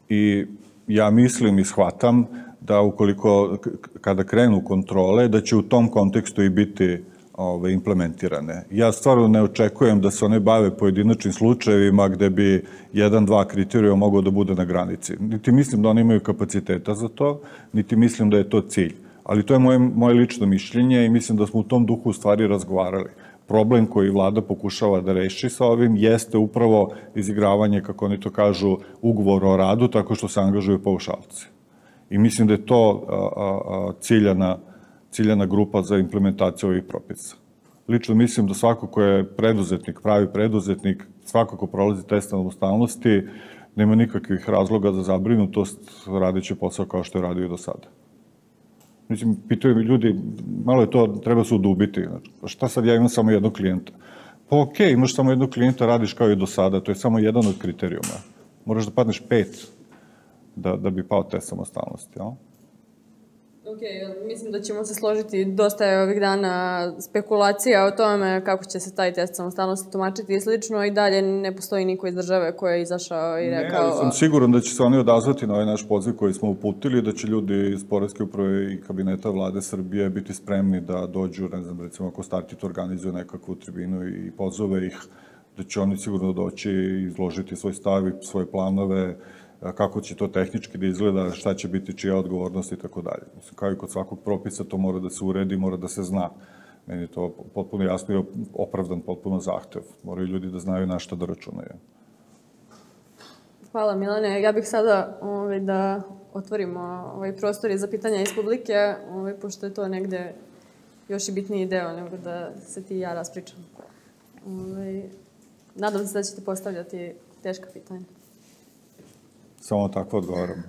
I ja mislim i shvatam da ukoliko, kada krenu kontrole, da će u tom kontekstu i biti implementirane. Ja stvarno ne očekujem da se one bave pojedinačnim slučajevima gde bi 1-2 kriterijuma mogao da bude na granici. Niti mislim da oni imaju kapaciteta za to, niti mislim da je to cilj. Ali to je moje lično mišljenje i mislim da smo u tom duhu u stvari razgovarali. Problem koji vlada pokušava da reši sa ovim jeste upravo izigravanje, kako oni to kažu, ugovora o radu, tako što se angažuju paušalci. I mislim da je to ciljana grupa za implementaciju ovih propisa. Lično mislim da svako ko je preduzetnik, pravi preduzetnik, svako ko prolazi test samostalnosti, nema nikakvih razloga za zabrinutost radeći posao kao što je radio i do sada. Mislim, pitaju mi ljudi, malo je to, treba se udubiti. Šta sad ja imam samo jednog klijenta? Pa okej, imaš samo jednog klijenta, radiš kao i do sada, to je samo jedan od kriterijuma. Moraš da padneš 5 da bi pao test samostalnosti, jel? Ok, mislim da ćemo se složiti, dosta je ovih dana spekulacija o tome kako će se taj test samostalnosti tumačiti i slično i dalje ne postoji niko iz države koji je izašao i rekao... Ne, sam siguran da će se oni odazvati na ovaj naš poziv koji smo uputili, da će ljudi iz Poreske uprave i kabineta vlade Srbije biti spremni da dođu, ne znam, recimo ako Startit organizuje nekakvu tribinu i pozove ih, da će oni sigurno doći i izložiti svoj stav i svoje planove, kako će to tehnički da izgleda, šta će biti čija odgovornost i tako dalje. Mislim, kao i kod svakog propisa, to mora da se uredi, mora da se zna. Meni je to potpuno jasno i opravdan potpuno zahtev. Moraju ljudi da znaju na šta da računaju. Hvala, Milane. Ja bih sada da otvorimo prostor za pitanja iz publike, pošto je to negde još i bitniji deo nego da se ti i ja raspričamo. Nadam se da ćete postavljati teška pitanja. Samo tako odgovaram.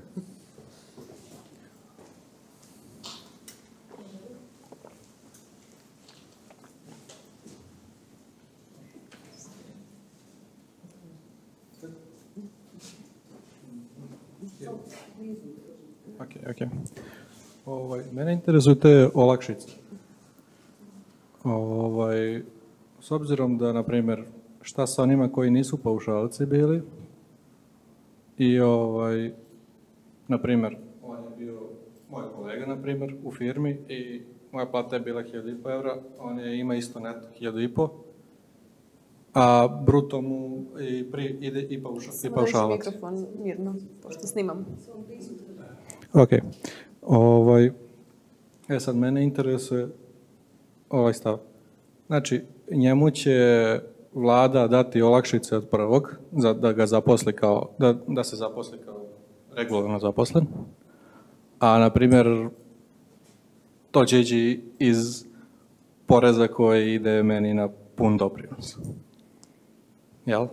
Ok. Mene interesuju te olakšice. S obzirom da, na primjer, šta sa onima koji nisu paušalci bili, i, na primjer, on je bio moj kolega, na primjer, u firmi i moja plata je bila 1.500 evra, on je ima isto neto 1.500, a bruto mu ide i paušalac. Samo reći mikrofon mirno, pošto snimam. Ok. Sad, mene interesuje ovaj stav. Znači, njemu će vlada dati olakšice od prvog, da ga zaposli kao, da se zaposli kao regularno zaposlen, a, na primjer, to će ići iz poreza koji ide meni na pun doprinos. Jel?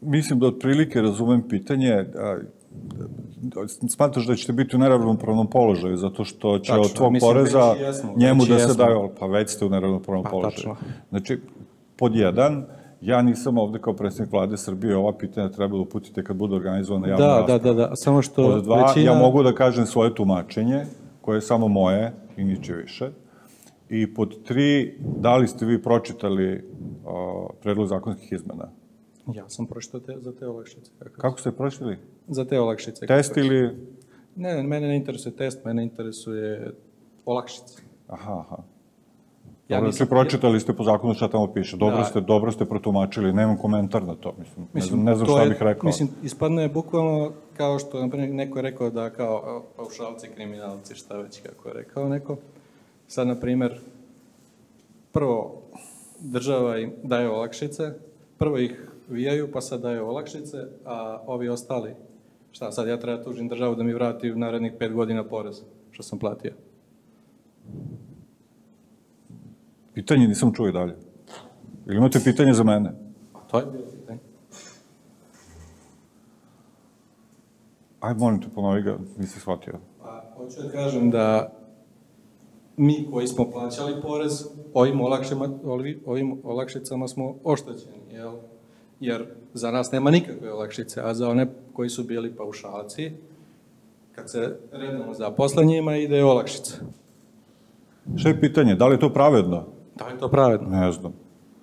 Mislim da otprilike razumem pitanje. Smatraš da ćete biti u neravnopravnom položaju, zato što će od tvog poreza njemu da se daju, pa već ste u neravnopravnom položaju. Znači, pod 1, ja nisam ovde kao predsjednik vlade Srbije, ova pitanja trebalo uputiti kad bude organizovana javna rasprava. Da, samo što... Pod 2, ja mogu da kažem svoje tumačenje, koje je samo moje i niče više. I pod 3, da li ste vi pročitali predlog zakonskih izmena? Ja sam pročitao za te olakšice. Kako ste pročitali? Za te olakšice. Test ili... Ne, mene ne interesuje test, mene interesuje olakšice. Aha. Dobro, svi pročitali ste po zakonu šta tamo piše. Dobro ste protumačili, nemam komentar na to. Mislim, ne znam šta bih rekao. Mislim, ispadne bukvalno kao što, naprimjer, neko je rekao da kao paušalci, kriminalci, šta već kako je rekao neko. Sad, na primjer, prvo država im daje olakšice, prvo ih vijaju, pa sad daje olakšice, a ovi ostali, šta sad, ja treba tužim državu da mi vrati u narednih 5 godina porez, što sam platio. Pitanje nisam čuo i dalje. Ili imate pitanje za mene? To je bilo pitanje. Ajde, molim te, ponovi ga, nisi shvatio. Hoću da kažem da mi koji smo plaćali porez, ovim olakšicama smo oštećeni, jel? jer za nas nema nikakve olakšice, a za one koji su bili paušalci, kad se redno zaposle njima, ide olakšica. Šta je pitanje? Da li je to pravedno? Da li je to pravedno? Ne znam.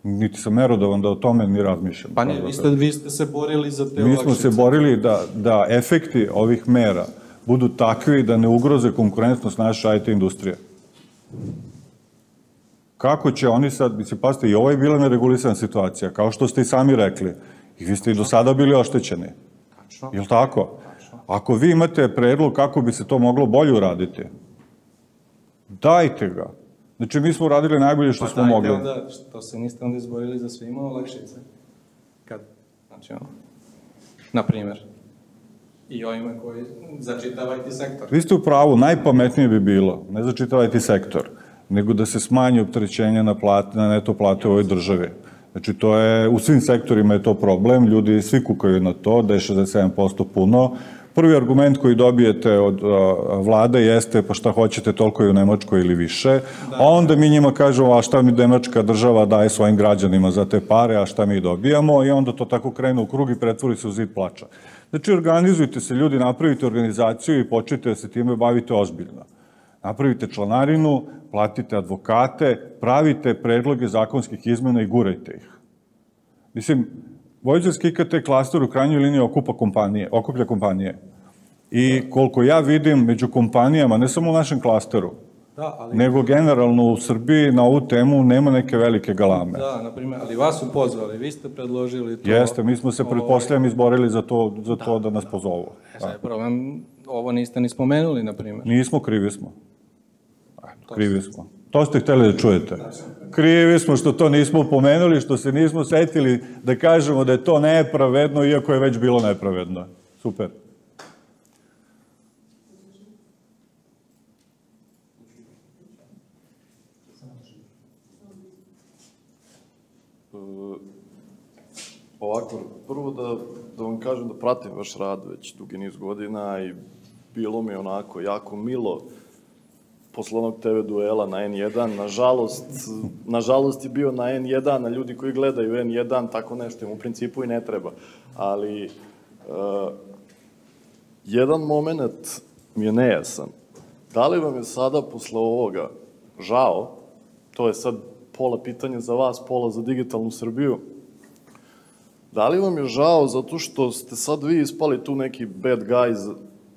Niti sam merodavan da o tome ni razmišljam. Pa ne, vi ste se borili za te olakšice. Mi smo se borili da efekti ovih mera budu takvi da ne ugroze konkurentnost naše IT industrije. Kako će oni sad, mislim, pazite, i ovo je bila neregulisana situacija, kao što ste i sami rekli, i vi ste i do sada bili oštećeni. Tačno. Je li tako? Ako vi imate predlog kako bi se to moglo bolje uraditi, dajte ga. Znači, mi smo uradili najbolje što smo mogli. Pa dajte onda, što se niste onda izborili za svima olakšice? Kad, znači ono, na primjer, i ovima koji začitavajte sektor. Vi ste u pravu, najpametnije bi bilo, ne začitavajte sektor, nego da se smanji opterećenje na neto plate u ovoj državi. Znači, to je, u svim sektorima je to problem, ljudi svi kukaju na to, da je 67% puno. Prvi argument koji dobijete od vlade jeste pa šta hoćete, toliko je u Nemačkoj ili više, a onda mi njima kažemo a šta mi Nemačka država daje svojim građanima za te pare, a šta mi dobijamo, i onda to tako krene u krug i pretvori se u zid plača. Znači, organizujte se ljudi, napravite organizaciju i počnite da se time bavite ozbiljno. Napravite članarinu, platite advokate, pravite predloge zakonskih izmena i gurajte ih. Mislim, Vojvođanski IKT klaster u krajnjoj liniji okuplja kompanije. I koliko ja vidim među kompanijama, ne samo u našem klasteru, nego generalno u Srbiji na ovu temu nema neke velike galame. Da, na primjer, ali vas su pozvali, vi ste predložili to. Jeste, mi smo se pretpostavljam izborili za to da nas pozovu. Sad je problem, ovo niste ni spomenuli, na primjer. Nismo, krivi smo. Krivi smo. To ste hteli da čujete. Krivi smo što to nismo pomenuli, što se nismo setili da kažemo da je to nepravedno, iako je već bilo nepravedno. Super. Ovako, prvo da vam kažem da pratim vaš rad već dugi niz godina i bilo mi onako jako milo posle onog TV duela na N1. Nažalost je bio na N1, a ljudi koji gledaju N1, tako nešto im u principu i ne treba. Ali, jedan moment mi je nejasan. Da li vam je sada posle ovoga žao, to je sad pola pitanja za vas, pola za digitalnu Srbiju, da li vam je žao zato što ste sad vi ispali tu neki bad guys?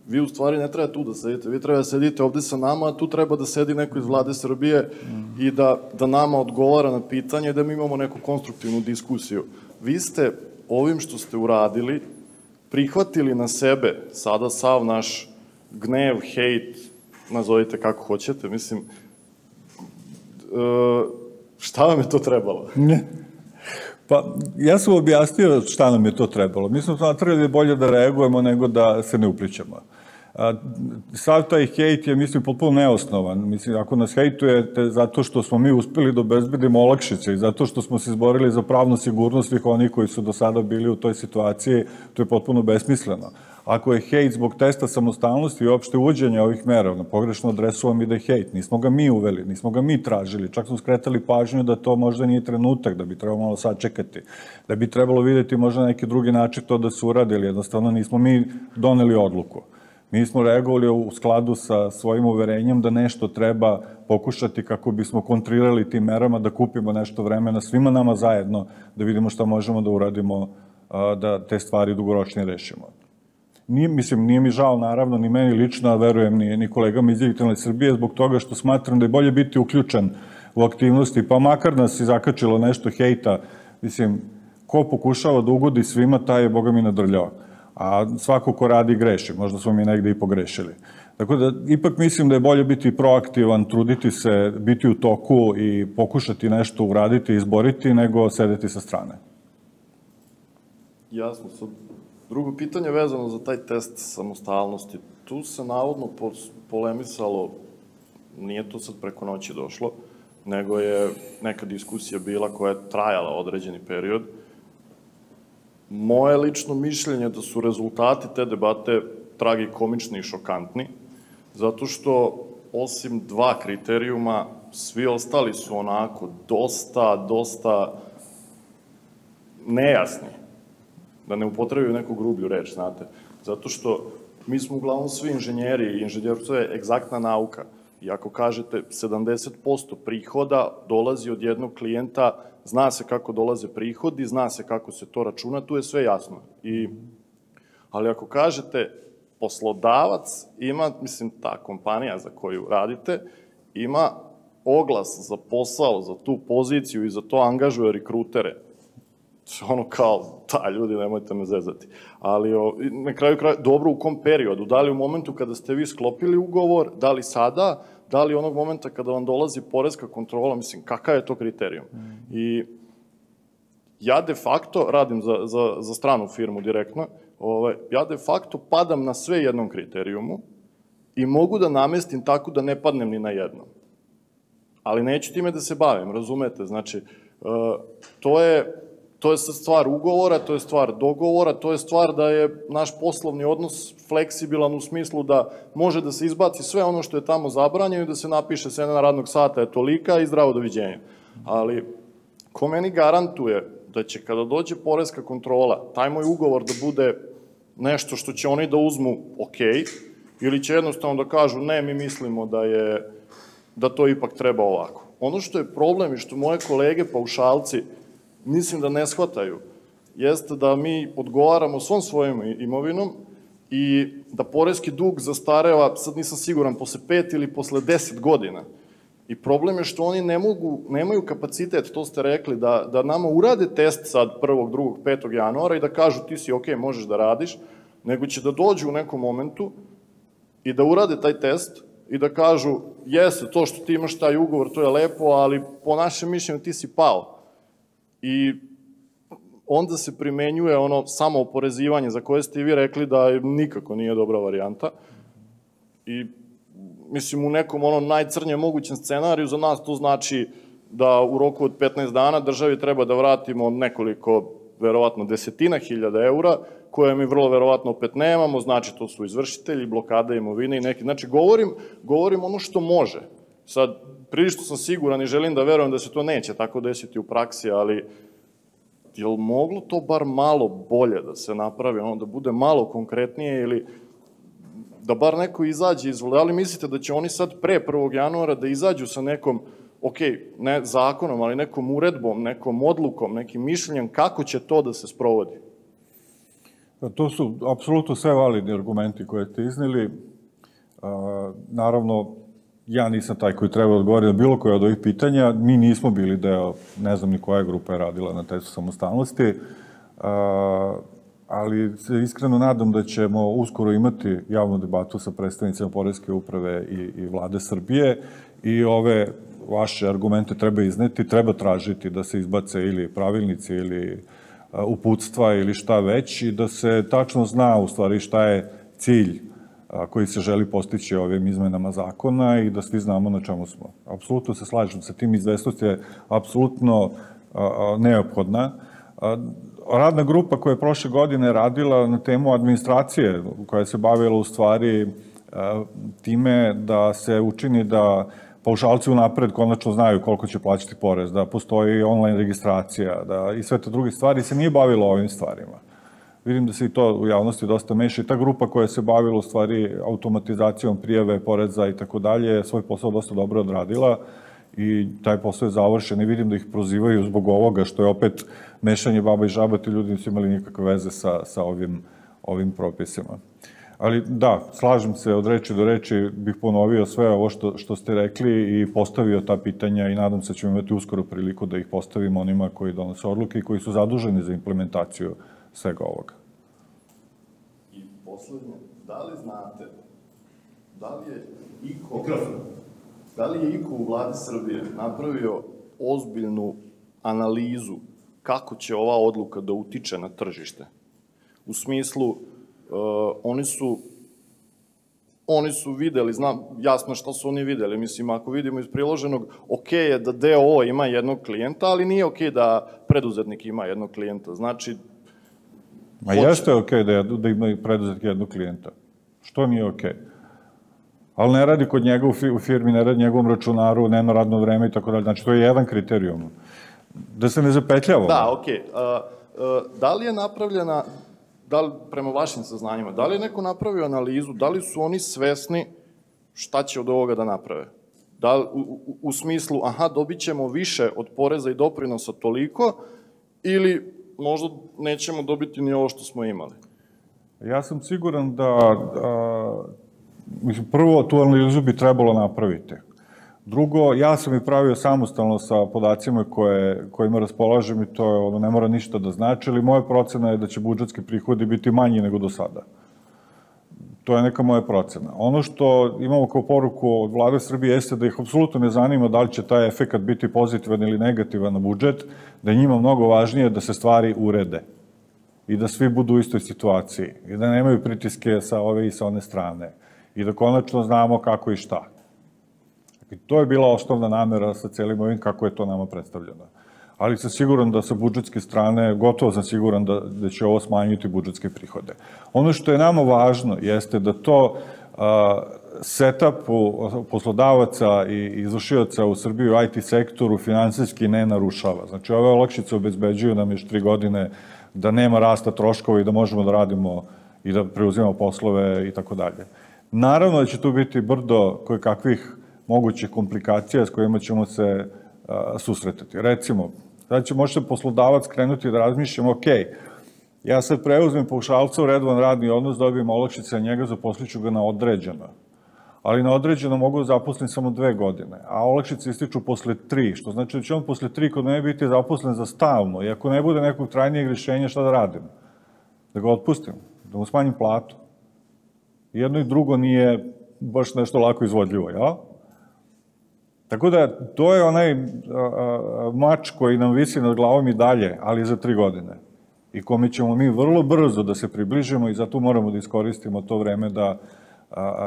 Vi u stvari ne treba tu da sedite, vi treba da sedite ovde sa nama, a tu treba da sedi neko iz vlade Srbije i da nama odgovara na pitanje i da mi imamo neku konstruktivnu diskusiju. Vi ste ovim što ste uradili prihvatili na sebe sada sav naš gnev, hejt, nazovite kako hoćete, mislim, šta vam je to trebalo? Pa, ja sam objasnio šta nam je to trebalo. Mi smo smatrali da je bolje da reagujemo nego da se ne uplićemo. Sav taj hejt je, mislim, potpuno neosnovan. Mislim, ako nas hejtujete zato što smo mi uspeli da obezbedimo olakšice i zato što smo se izborili za pravnu sigurnost svih onih koji su do sada bili u toj situaciji, to je potpuno besmisleno. Ako je hejt zbog testa samostalnosti i uopšte uvođenja ovih mera, na pogrešnu adresu vam ide hejt. Nismo ga mi uveli, nismo ga mi tražili, čak smo skretali pažnju da to možda nije trenutak, da bi trebalo malo sačekati, da bi trebalo videti možda neki drugi način to da se uradi, ili jednostavno nismo mi doneli odluku. Mi smo reagovali u skladu sa svojim uverenjem da nešto treba pokušati kako bismo kontrirali tim merama, da kupimo nešto vremena svima nama zajedno, da vidimo šta možemo da uradimo, da te stvari dugoročnije rešimo. Nije mi žao, naravno, ni meni lično, a verujem ni kolegama iz Digitalne Srbije, zbog toga što smatram da je bolje biti uključen u aktivnosti, pa makar nas i zakačilo nešto hejta, mislim, ko pokušava da ugodi svima, taj je, Boga mi, nadrljao. A svako ko radi greši, možda smo mi negde i pogrešili. Tako da, ipak mislim da je bolje biti proaktivan, truditi se, biti u toku i pokušati nešto uraditi, izboriti, nego sedeti sa strane. Jasno. Drugo pitanje vezano za taj test samostalnosti. Tu se navodno polemisalo, nije to sad preko noći došlo, nego je neka diskusija bila koja je trajala određeni period. Moje lično mišljenje je da su rezultati te debate tragikomični i šokantni, zato što osim dva kriterijuma, svi ostali su onako dosta nejasni. Da ne upotrebaju neku grublju reč, znate. Zato što mi smo uglavnom svi inženjeri i inženjerstvo je egzaktna nauka. I ako kažete 70% prihoda dolazi od jednog klijenta, zna se kako dolaze prihodi, zna se kako se to računa, tu je sve jasno. Ali ako kažete poslodavac ima, mislim, ta kompanija za koju radite, ima oglas za posao, za tu poziciju i za to angažuje rekrutere. Ono kao, ljudi, nemojte me zezati. Ali na kraju kraja, dobro u kom periodu? Da li u momentu kada ste vi sklopili ugovor, da li sada, da li onog momenta kada vam dolazi poreska kontrola, mislim, kakav je to kriterijum? I ja de facto radim za stranu firmu direktno, ja de facto padam na sve jednom kriterijumu i mogu da namestim tako da ne padnem ni na jednom. Ali neću time da se bavim, razumete? Znači, to je stvar ugovora, to je stvar dogovora, to je stvar da je naš poslovni odnos fleksibilan u smislu da može da se izbaci sve ono što je tamo zabranjeno i da se napiše sedam radnog sata je tolika i zdravo doviđenja. Ali, ko meni garantuje da će kada dođe poreska kontrola, taj moj ugovor da bude nešto što će oni da uzmu ok, ili će jednostavno da kažu ne, mi mislimo da to ipak treba ovako. Ono što je problem i što moje kolege paušalci mislim da ne shvataju, jeste da mi odgovaramo svom svojom imovinom i da poreski dug zastareva, sad nisam siguran, posle 5 ili posle 10 godina. I problem je što oni nemaju kapacitet, to ste rekli, da nama urade test sad 1., 2., 5. januara i da kažu ti si ok, možeš da radiš, nego će da dođu u nekom momentu i da urade taj test i da kažu, jeste, to što ti imaš taj ugovor, to je lepo, ali po našem mišljenju ti si pao. I onda se primenjuje ono samo oporezivanje za koje ste i vi rekli da nikako nije dobra varijanta. I mislim, u nekom onom najcrnjem mogućem scenariju za nas to znači da u roku od 15 dana državi treba da vratimo nekoliko, verovatno, desetina hiljada eura, koje mi vrlo verovatno opet nemamo, znači to su izvršitelji, blokada imovine i neki. Znači, govorim ono što može. Sad, prilično sam siguran i želim da verujem da se to neće tako desiti u praksi, ali je li moglo to bar malo bolje da se napravi, ono, da bude malo konkretnije ili da bar neko izađe iz vlade? Da li mislite da će oni sad pre 1. januara da izađu sa nekom, ok, ne zakonom, ali nekom uredbom, nekom odlukom, nekim mišljenjem kako će to da se sprovodi? To su apsolutno sve validni argumenti koje ste izneli. Naravno, ja nisam taj koji treba odgovoriti na bilo koje od ovih pitanja. Mi nismo bili deo, ne znam ni koja grupa je radila na testu samostalnosti, ali se iskreno nadam da ćemo uskoro imati javnu debatu sa predstavnicima Poreske uprave i Vlade Srbije i ove vaše argumente treba izneti, treba tražiti da se izbace ili pravilnici ili uputstva ili šta već i da se tačno zna u stvari šta je cilj koji se želi postići ovim izmenama zakona i da svi znamo na čemu smo. Apsolutno se slažem sa tim, izvestnost je apsolutno neophodna. Radna grupa koja je prošle godine radila na temu administracije, koja se bavila u stvari time da se učini da paušalci unapred konačno znaju koliko će plaćati porez, da postoji online registracija i sve te druge stvari, se nije bavilo ovim stvarima. Vidim da se i to u javnosti dosta meša i ta grupa koja se bavila u stvari automatizacijom prijave poreza i tako dalje, svoj posao dosta dobro odradila i taj posao je završen i vidim da ih prozivaju zbog ovoga, što je opet mešanje baba i žaba, ti ljudi nisu imali nikakve veze sa ovim propisima. Ali da, slažem se, od reči do reči bih ponovio sve ovo što ste rekli i postavio ta pitanja i nadam se da ćemo imati uskoro priliku da ih postavimo onima koji donose odluke i koji su zaduženi za implementaciju svega ovoga. I poslednje, da li znate, da li je iko u vladi Srbije napravio ozbiljnu analizu kako će ova odluka da utiče na tržište? U smislu, oni su videli, znam jasno šta su oni videli, mislim, ako vidimo iz priloženog, ok je da DOO ima jednog klijenta, ali nije ok da preduzetnik ima jednog klijenta, znači... Ma jeste ok da ima preduzetnik jednog klijenta, što nije ok? Ali ne radi kod njega u firmi, ne radi njegovom računaru, nema radno vreme i tako dalje, znači to je jedan kriterijum. Da se ne zapetljavamo. Da, ok. da li je napravljena, prema vašim saznanjima, da li je neko napravio analizu, da li su oni svesni šta će od ovoga da naprave? U smislu, aha, dobit ćemo više od poreza i doprinosa toliko, ili možda nećemo dobiti ni ovo što smo imali? Ja sam siguran da, prvo, tu analizu bi trebalo napraviti. Drugo, ja sam i pravio samostalno sa podacima kojima raspolažem i to je, ne mora ništa da znači, ali moja procena je da će budžetski prihodi biti manji nego do sada. To je neka moja procena. Ono što imamo kao poruku od vlade Srbije jeste da ih apsolutno ne zanima da li će taj efekat biti pozitivan ili negativan na budžet, da je njima mnogo važnije da se stvari urede i da svi budu u istoj situaciji i da nemaju pritiske sa ove i sa one strane i da konačno znamo kako i šta. To je bila osnovna namera sa celim ovim kako je to nama predstavljeno. Ali sam siguran da sa budžetske strane, gotovo sam siguran da će ovo smanjiti budžetske prihode. Ono što je nama važno jeste da to setupu poslodavaca i izvršioca u Srbiji u IT sektoru finansijski ne narušava. Znači, ove olakšice obezbeđuju nam još 3 godine da nema rasta troškova i da možemo da radimo i da preuzimamo poslove i tako dalje. Naravno da će tu biti brdo koje kakvih mogućih komplikacija s kojima ćemo se susretati. Recimo, sad će možda poslodavac krenuti da razmišljamo, ok, ja sad preuzmem paušalca u redovan radni odnos, dobijem olakšice, a njega zaposliću ga na određeno. Ali na određeno mogu da zaposlim samo 2 godine, a olakšice ističu posle 3, što znači da će on posle 3 kod mene biti zaposlen za stalno i ako ne bude nekog trajnijeg rješenja, šta da radim? Da ga otpustim, da mu smanjim platu. Jedno i drugo nije baš nešto lako izvodljivo, jel? Tako da, to je onaj mač koji nam visi nad glavom i dalje, ali za 3 godine. I kome ćemo mi vrlo brzo da se približimo i zato moramo da iskoristimo to vreme da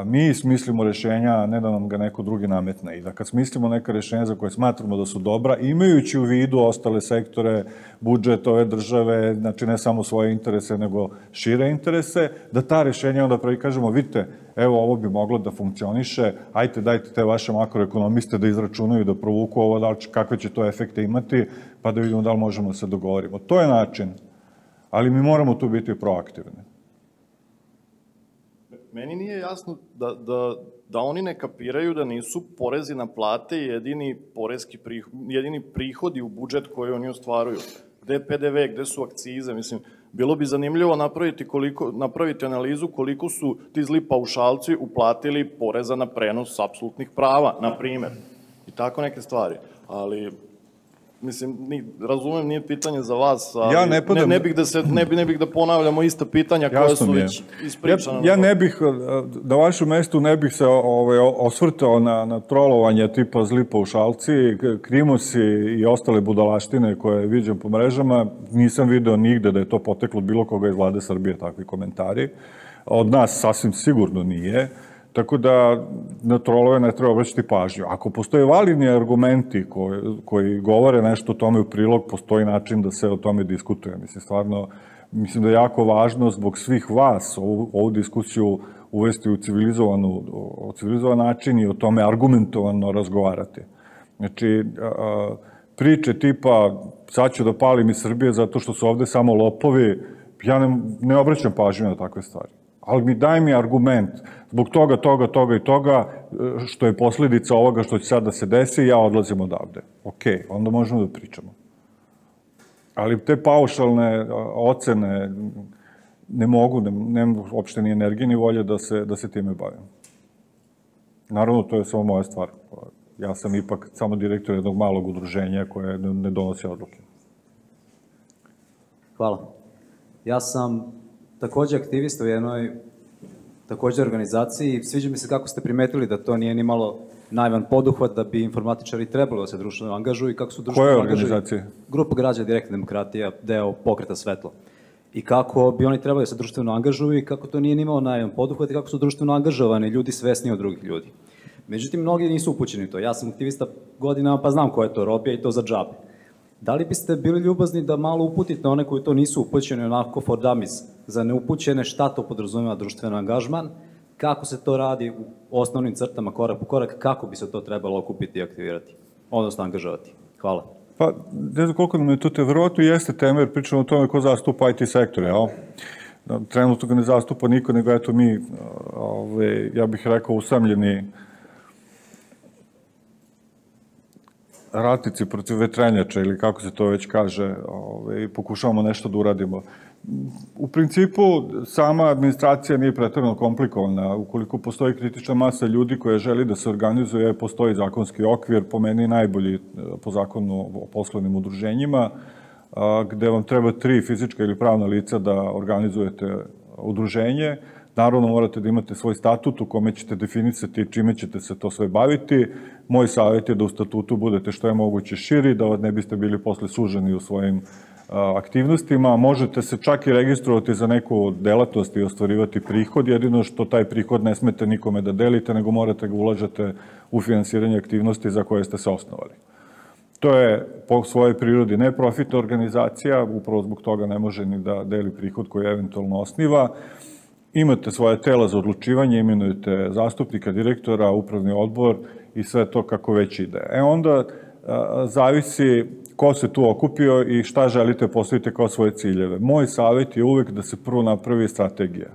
mi smislimo rešenja, a ne da nam ga neko drugi nametne. I da kad smislimo neka rešenja za koje smatramo da su dobra, imajući u vidu ostale sektore, budžet ove države, znači ne samo svoje interese, nego šire interese, da ta rešenja onda kažemo, vidite, evo ovo bi moglo da funkcioniše, ajte dajte te vaše makroekonomiste da izračunaju, da provuku ovo, kakve će to efekte imati, pa da vidimo da li možemo da se dogovorimo. To je način, ali mi moramo tu biti proaktivni. Meni nije jasno da oni ne kapiraju da nisu porezi na plate jedini prihodi u budžet koji oni ostvaruju. Gde je PDV, gde su akcize, mislim, bilo bi zanimljivo napraviti analizu koliko su ti zli paušalci uplatili poreza na prenos apsolutnih prava, na primer, i tako neke stvari, ali... Mislim, razumem, nije pitanje za vas, ali ne bih da ponavljamo ista pitanja koja su već ispričana. Ja ne bih, na vašem mestu ne bih se osvrtao na trolovanje tipa zli paušalci, krimosi i ostale budalaštine koje viđam po mrežama. Nisam video nigde da je to poteklo bilo koga iz vlade Srbije, takvi komentari. Od nas sasvim sigurno nije. Tako da na trolove ne treba obraćati pažnju. Ako postoje validni argumenti koji govore nešto o tome u prilog, postoji način da se o tome diskutuje. Mislim, stvarno, mislim da je jako važno zbog svih vas ovu diskusiju uvesti u civilizovan način i o tome argumentovano razgovarati. Znači, priče tipa sad ću da palim iz Srbije zato što su ovde samo lopovi, ja ne obraćam pažnju na takve stvari. Ali daj mi argument, zbog toga i toga, što je posljedica ovoga što će sad da se desi, ja odlazim odavde. Okej, onda možemo da pričamo. Ali te paušalne ocene ne mogu, nemam uopšte ni energije ni volje da se time bavim. Naravno, to je samo moja stvar. Ja sam ipak samo direktor jednog malog udruženja koje ne donosi odluke. Hvala. Ja sam takođe aktivista u jednoj takođe organizaciji. Sviđa mi se kako ste primetili da to nije ni malo naivan poduhvat, da bi informatičari trebalo da se društveno angažuju i kako su društveno angažuju. Koje organizacije? Grupa građana Direktna demokratija, deo Pokreta Svetlo. I kako bi oni trebali da se društveno angažuju i kako to nije ni malo naivan poduhvat i kako su društveno angažovani ljudi svesni od drugih ljudi. Međutim, mnogi nisu upućeni u to. Ja sam aktivista godinama pa znam ko je to robija i to za džabe. Da li biste bili ljubazni da malo uputite one koji to nisu upućeni onako for dummies, za neupućene šta to podrazumeva društveno angažman, kako se to radi u osnovnim crtama, korak po korak, kako bi se to trebalo okupiti i aktivirati, odnosno angažovati? Hvala. Pa, ne znam koliko nam je to verovatno jeste tema, jer pričamo o tome ko zastupa IT sektor, jel? Trenutno ga ne zastupa niko, nego eto mi, ja bih rekao, usamljeni ratnici protiv vetrenjača, ili kako se to već kaže, pokušavamo nešto da uradimo. U principu, sama administracija nije pretjerano komplikovana. Ukoliko postoji kritična masa ljudi koja želi da se organizuje, postoji zakonski okvir, po meni najbolji po zakonu o poslovnim udruženjima, gde vam treba 3 fizička ili pravna lica da organizujete udruženje. Naravno, morate da imate svoj statut u kome ćete definisati čime ćete se to sve baviti. Moj savjet je da u statutu budete što je moguće širi, da ne biste bili posle suženi u svojim aktivnostima. Možete se čak i registrovati za neku delatnost i ostvarivati prihod, jedino što taj prihod ne smete nikome da delite, nego morate ga ulažete u finansiranje aktivnosti za koje ste se osnovali. To je po svojoj prirodi neprofitna organizacija, upravo zbog toga ne može ni da deli prihod koji eventualno osniva. Imate svoje tela za odlučivanje, imenujete zastupnika, direktora, upravni odbor i sve to kako već ide. Onda zavisi ko se tu okupio i šta želite postaviti kao svoje ciljeve. Moj savjet je uvek da se prvo napravi strategija.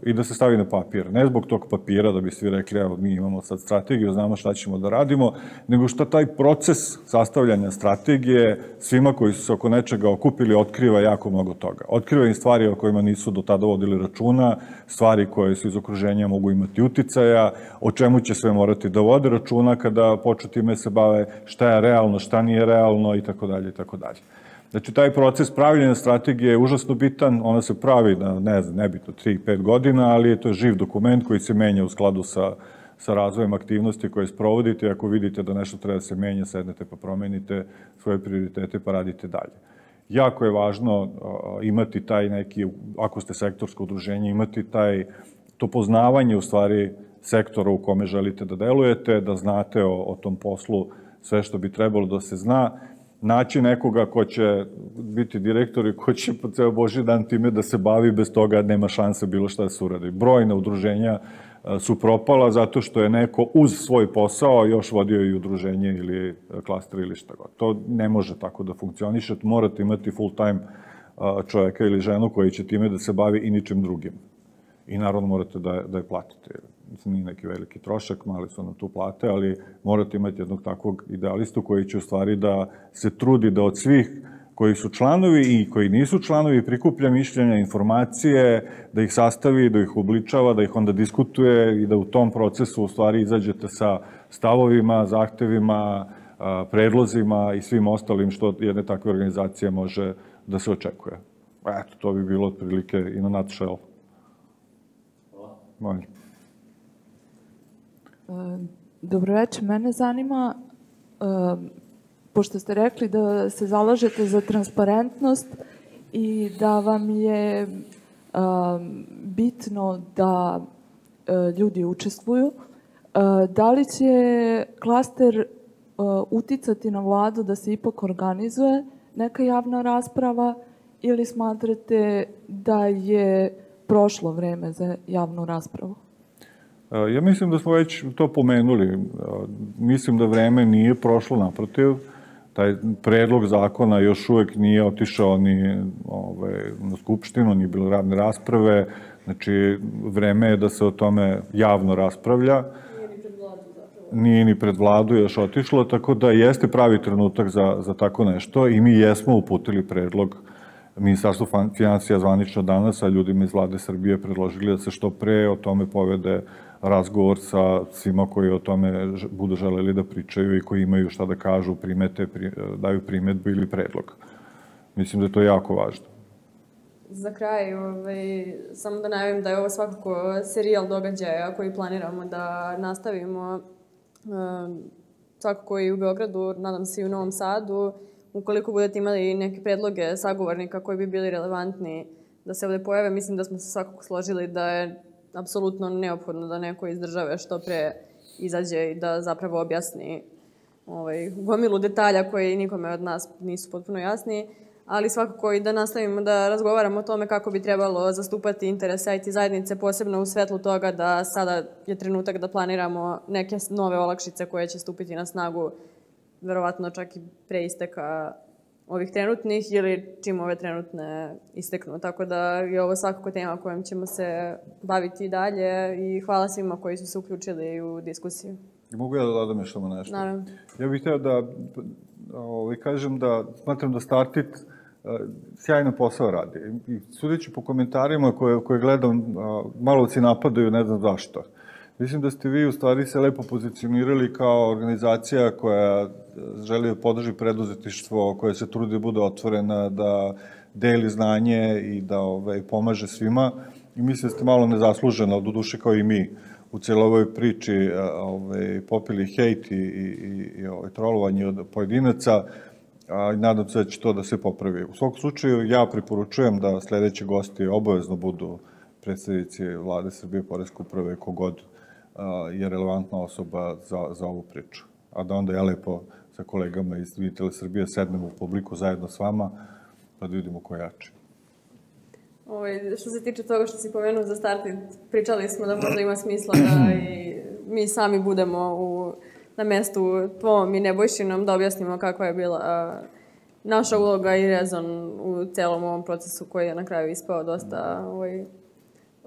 I da se stavi na papir. Ne zbog tog papira da bi svi rekli, evo mi imamo sad strategiju, znamo šta ćemo da radimo, nego šta taj proces sastavljanja strategije svima koji su se oko nečega okupili otkriva jako mnogo toga. Otkriva im stvari o kojima nisu do tada vodili računa, stvari koje su iz okruženja mogu imati uticaja, o čemu će sve morati da vode računa kada počnu time se bave, šta je realno, šta nije realno itd. itd. Znači, taj proces pravljenja strategije je užasno bitan, ona se pravi na, ne znam, nebitno, 3-5 godina, ali to je živ dokument koji se menja u skladu sa razvojem aktivnosti koje sprovodite. Ako vidite da nešto treba da se menja, sednete pa promenite svoje prioritete pa radite dalje. Jako je važno imati taj neki, ako ste sektorsko udruženje, imati to poznavanje u stvari sektora u kome želite da delujete, da znate o tom poslu sve što bi trebalo da se zna, naći nekoga ko će biti direktor i ko će po ceo Božji dan time da se bavi, bez toga nema šanse bilo šta da se uradi. Brojna udruženja su propala zato što je neko uz svoj posao još vodio i udruženje ili klaster ili šta god. To ne može tako da funkcioniše, morate imati full time čoveka ili ženu koji će time da se bavi i ničim drugim. I naravno morate da je platite. Nije neki veliki trošak, mali su nam tu plate, ali morate imati jednog takvog idealistu koji će u stvari da se trudi da od svih koji su članovi i koji nisu članovi prikuplja mišljenja, informacije, da ih sastavi, da ih obličava, da ih onda diskutuje i da u tom procesu u stvari izađete sa stavovima, zahtevima, predlozima i svim ostalim što jedne takve organizacije može da se očekuje. Eto, to bi bilo otprilike i na nutshell. Hvala. Dobro večer, mene zanima, pošto ste rekli da se zalažete za transparentnost i da vam je bitno da ljudi učestvuju, da li će klaster uticati na vladu da se ipak organizuje neka javna rasprava ili smatrate da je prošlo vreme za javnu raspravu? Ja mislim da smo već to pomenuli. Mislim da vreme nije prošlo, naprotiv. Taj predlog zakona još uvek nije otišao ni na skupštinu, ni bilo radne rasprave. Znači, vreme je da se o tome javno raspravlja. Nije ni pred vladu još otišlo, tako da jeste pravi trenutak za tako nešto i mi jesmo uputili predlog Ministarstvo finansija zvanično danas, a ljudima iz vlade Srbije predložili da se što pre o tome povede razgovor sa svima koji o tome budu želeli da pričaju i koji imaju šta da kažu, primete, daju primetbu ili predlog. Mislim da je to jako važno. Za kraj, samo da najavim da je ovo svakako serijal događaja koji planiramo da nastavimo svakako i u Beogradu, nadam se i u Novom Sadu. Ukoliko budete imali neke predloge sagovornika koji bi bili relevantni da se ovde pojave, mislim da smo se svakako složili da je apsolutno neophodno da neko iz države što pre izađe i da zapravo objasni gomilu detalja koji nikome od nas nisu potpuno jasni, ali svakako i da nastavimo da razgovaramo o tome kako bi trebalo zastupati interese IT zajednice, posebno u svetlu toga da sada je trenutak da planiramo neke nove olakšice koje će stupiti na snagu verovatno čak i pre isteka ovih trenutnih ili čim ove trenutne isteknu. Tako da je ovo svakako tema kojom ćemo se baviti i dalje i hvala svima koji su se uključili u diskusiju. Mogu ja da dodam još samo nešto? Naravno. Ja bih htio da kažem da smatram da Startit sjajno posao radi. I sudeći po komentarima koje gledam, malovci napadaju, ne znam zašto. Mislim da ste vi u stvari se lepo pozicionirali kao organizacija koja želi da podrži preduzetništvo, koja se trudi da bude otvorena, da deli znanje i da pomaže svima. I mislim da ste malo nezasluženo, do duše kao i mi, u cijeloj ovoj priči popili hejt i trolovanje od pojedinaca, i nadam se da će to da se popravi. U svakom slučaju, ja preporučujem da sledeći gosti obavezno budu predstavnici Vlade Srbije, Poreske uprave, kogod je relevantna osoba za ovu priču. A da onda ja lepo sa kolegama iz Digitale Srbije sednemo u publiku zajedno s vama, pa da vidimo ko jači. Što se tiče toga što si pomenuo za Startit, pričali smo da možda ima smisla da i mi sami budemo na mestu tvom i Nebojšinom, da objasnimo kakva je bila naša uloga i rezon u celom ovom procesu koji je na kraju ispao dosta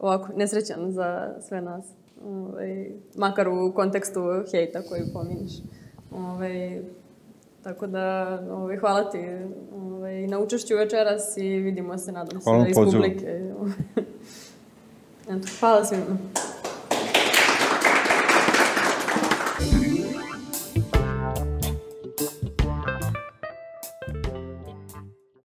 ovako nesrećan za sve nas. Makar u kontekstu hejta koji pominješ. Tako da, hvala ti na učešću večeras i vidimo se, nadam se, iz publike. Hvala svima.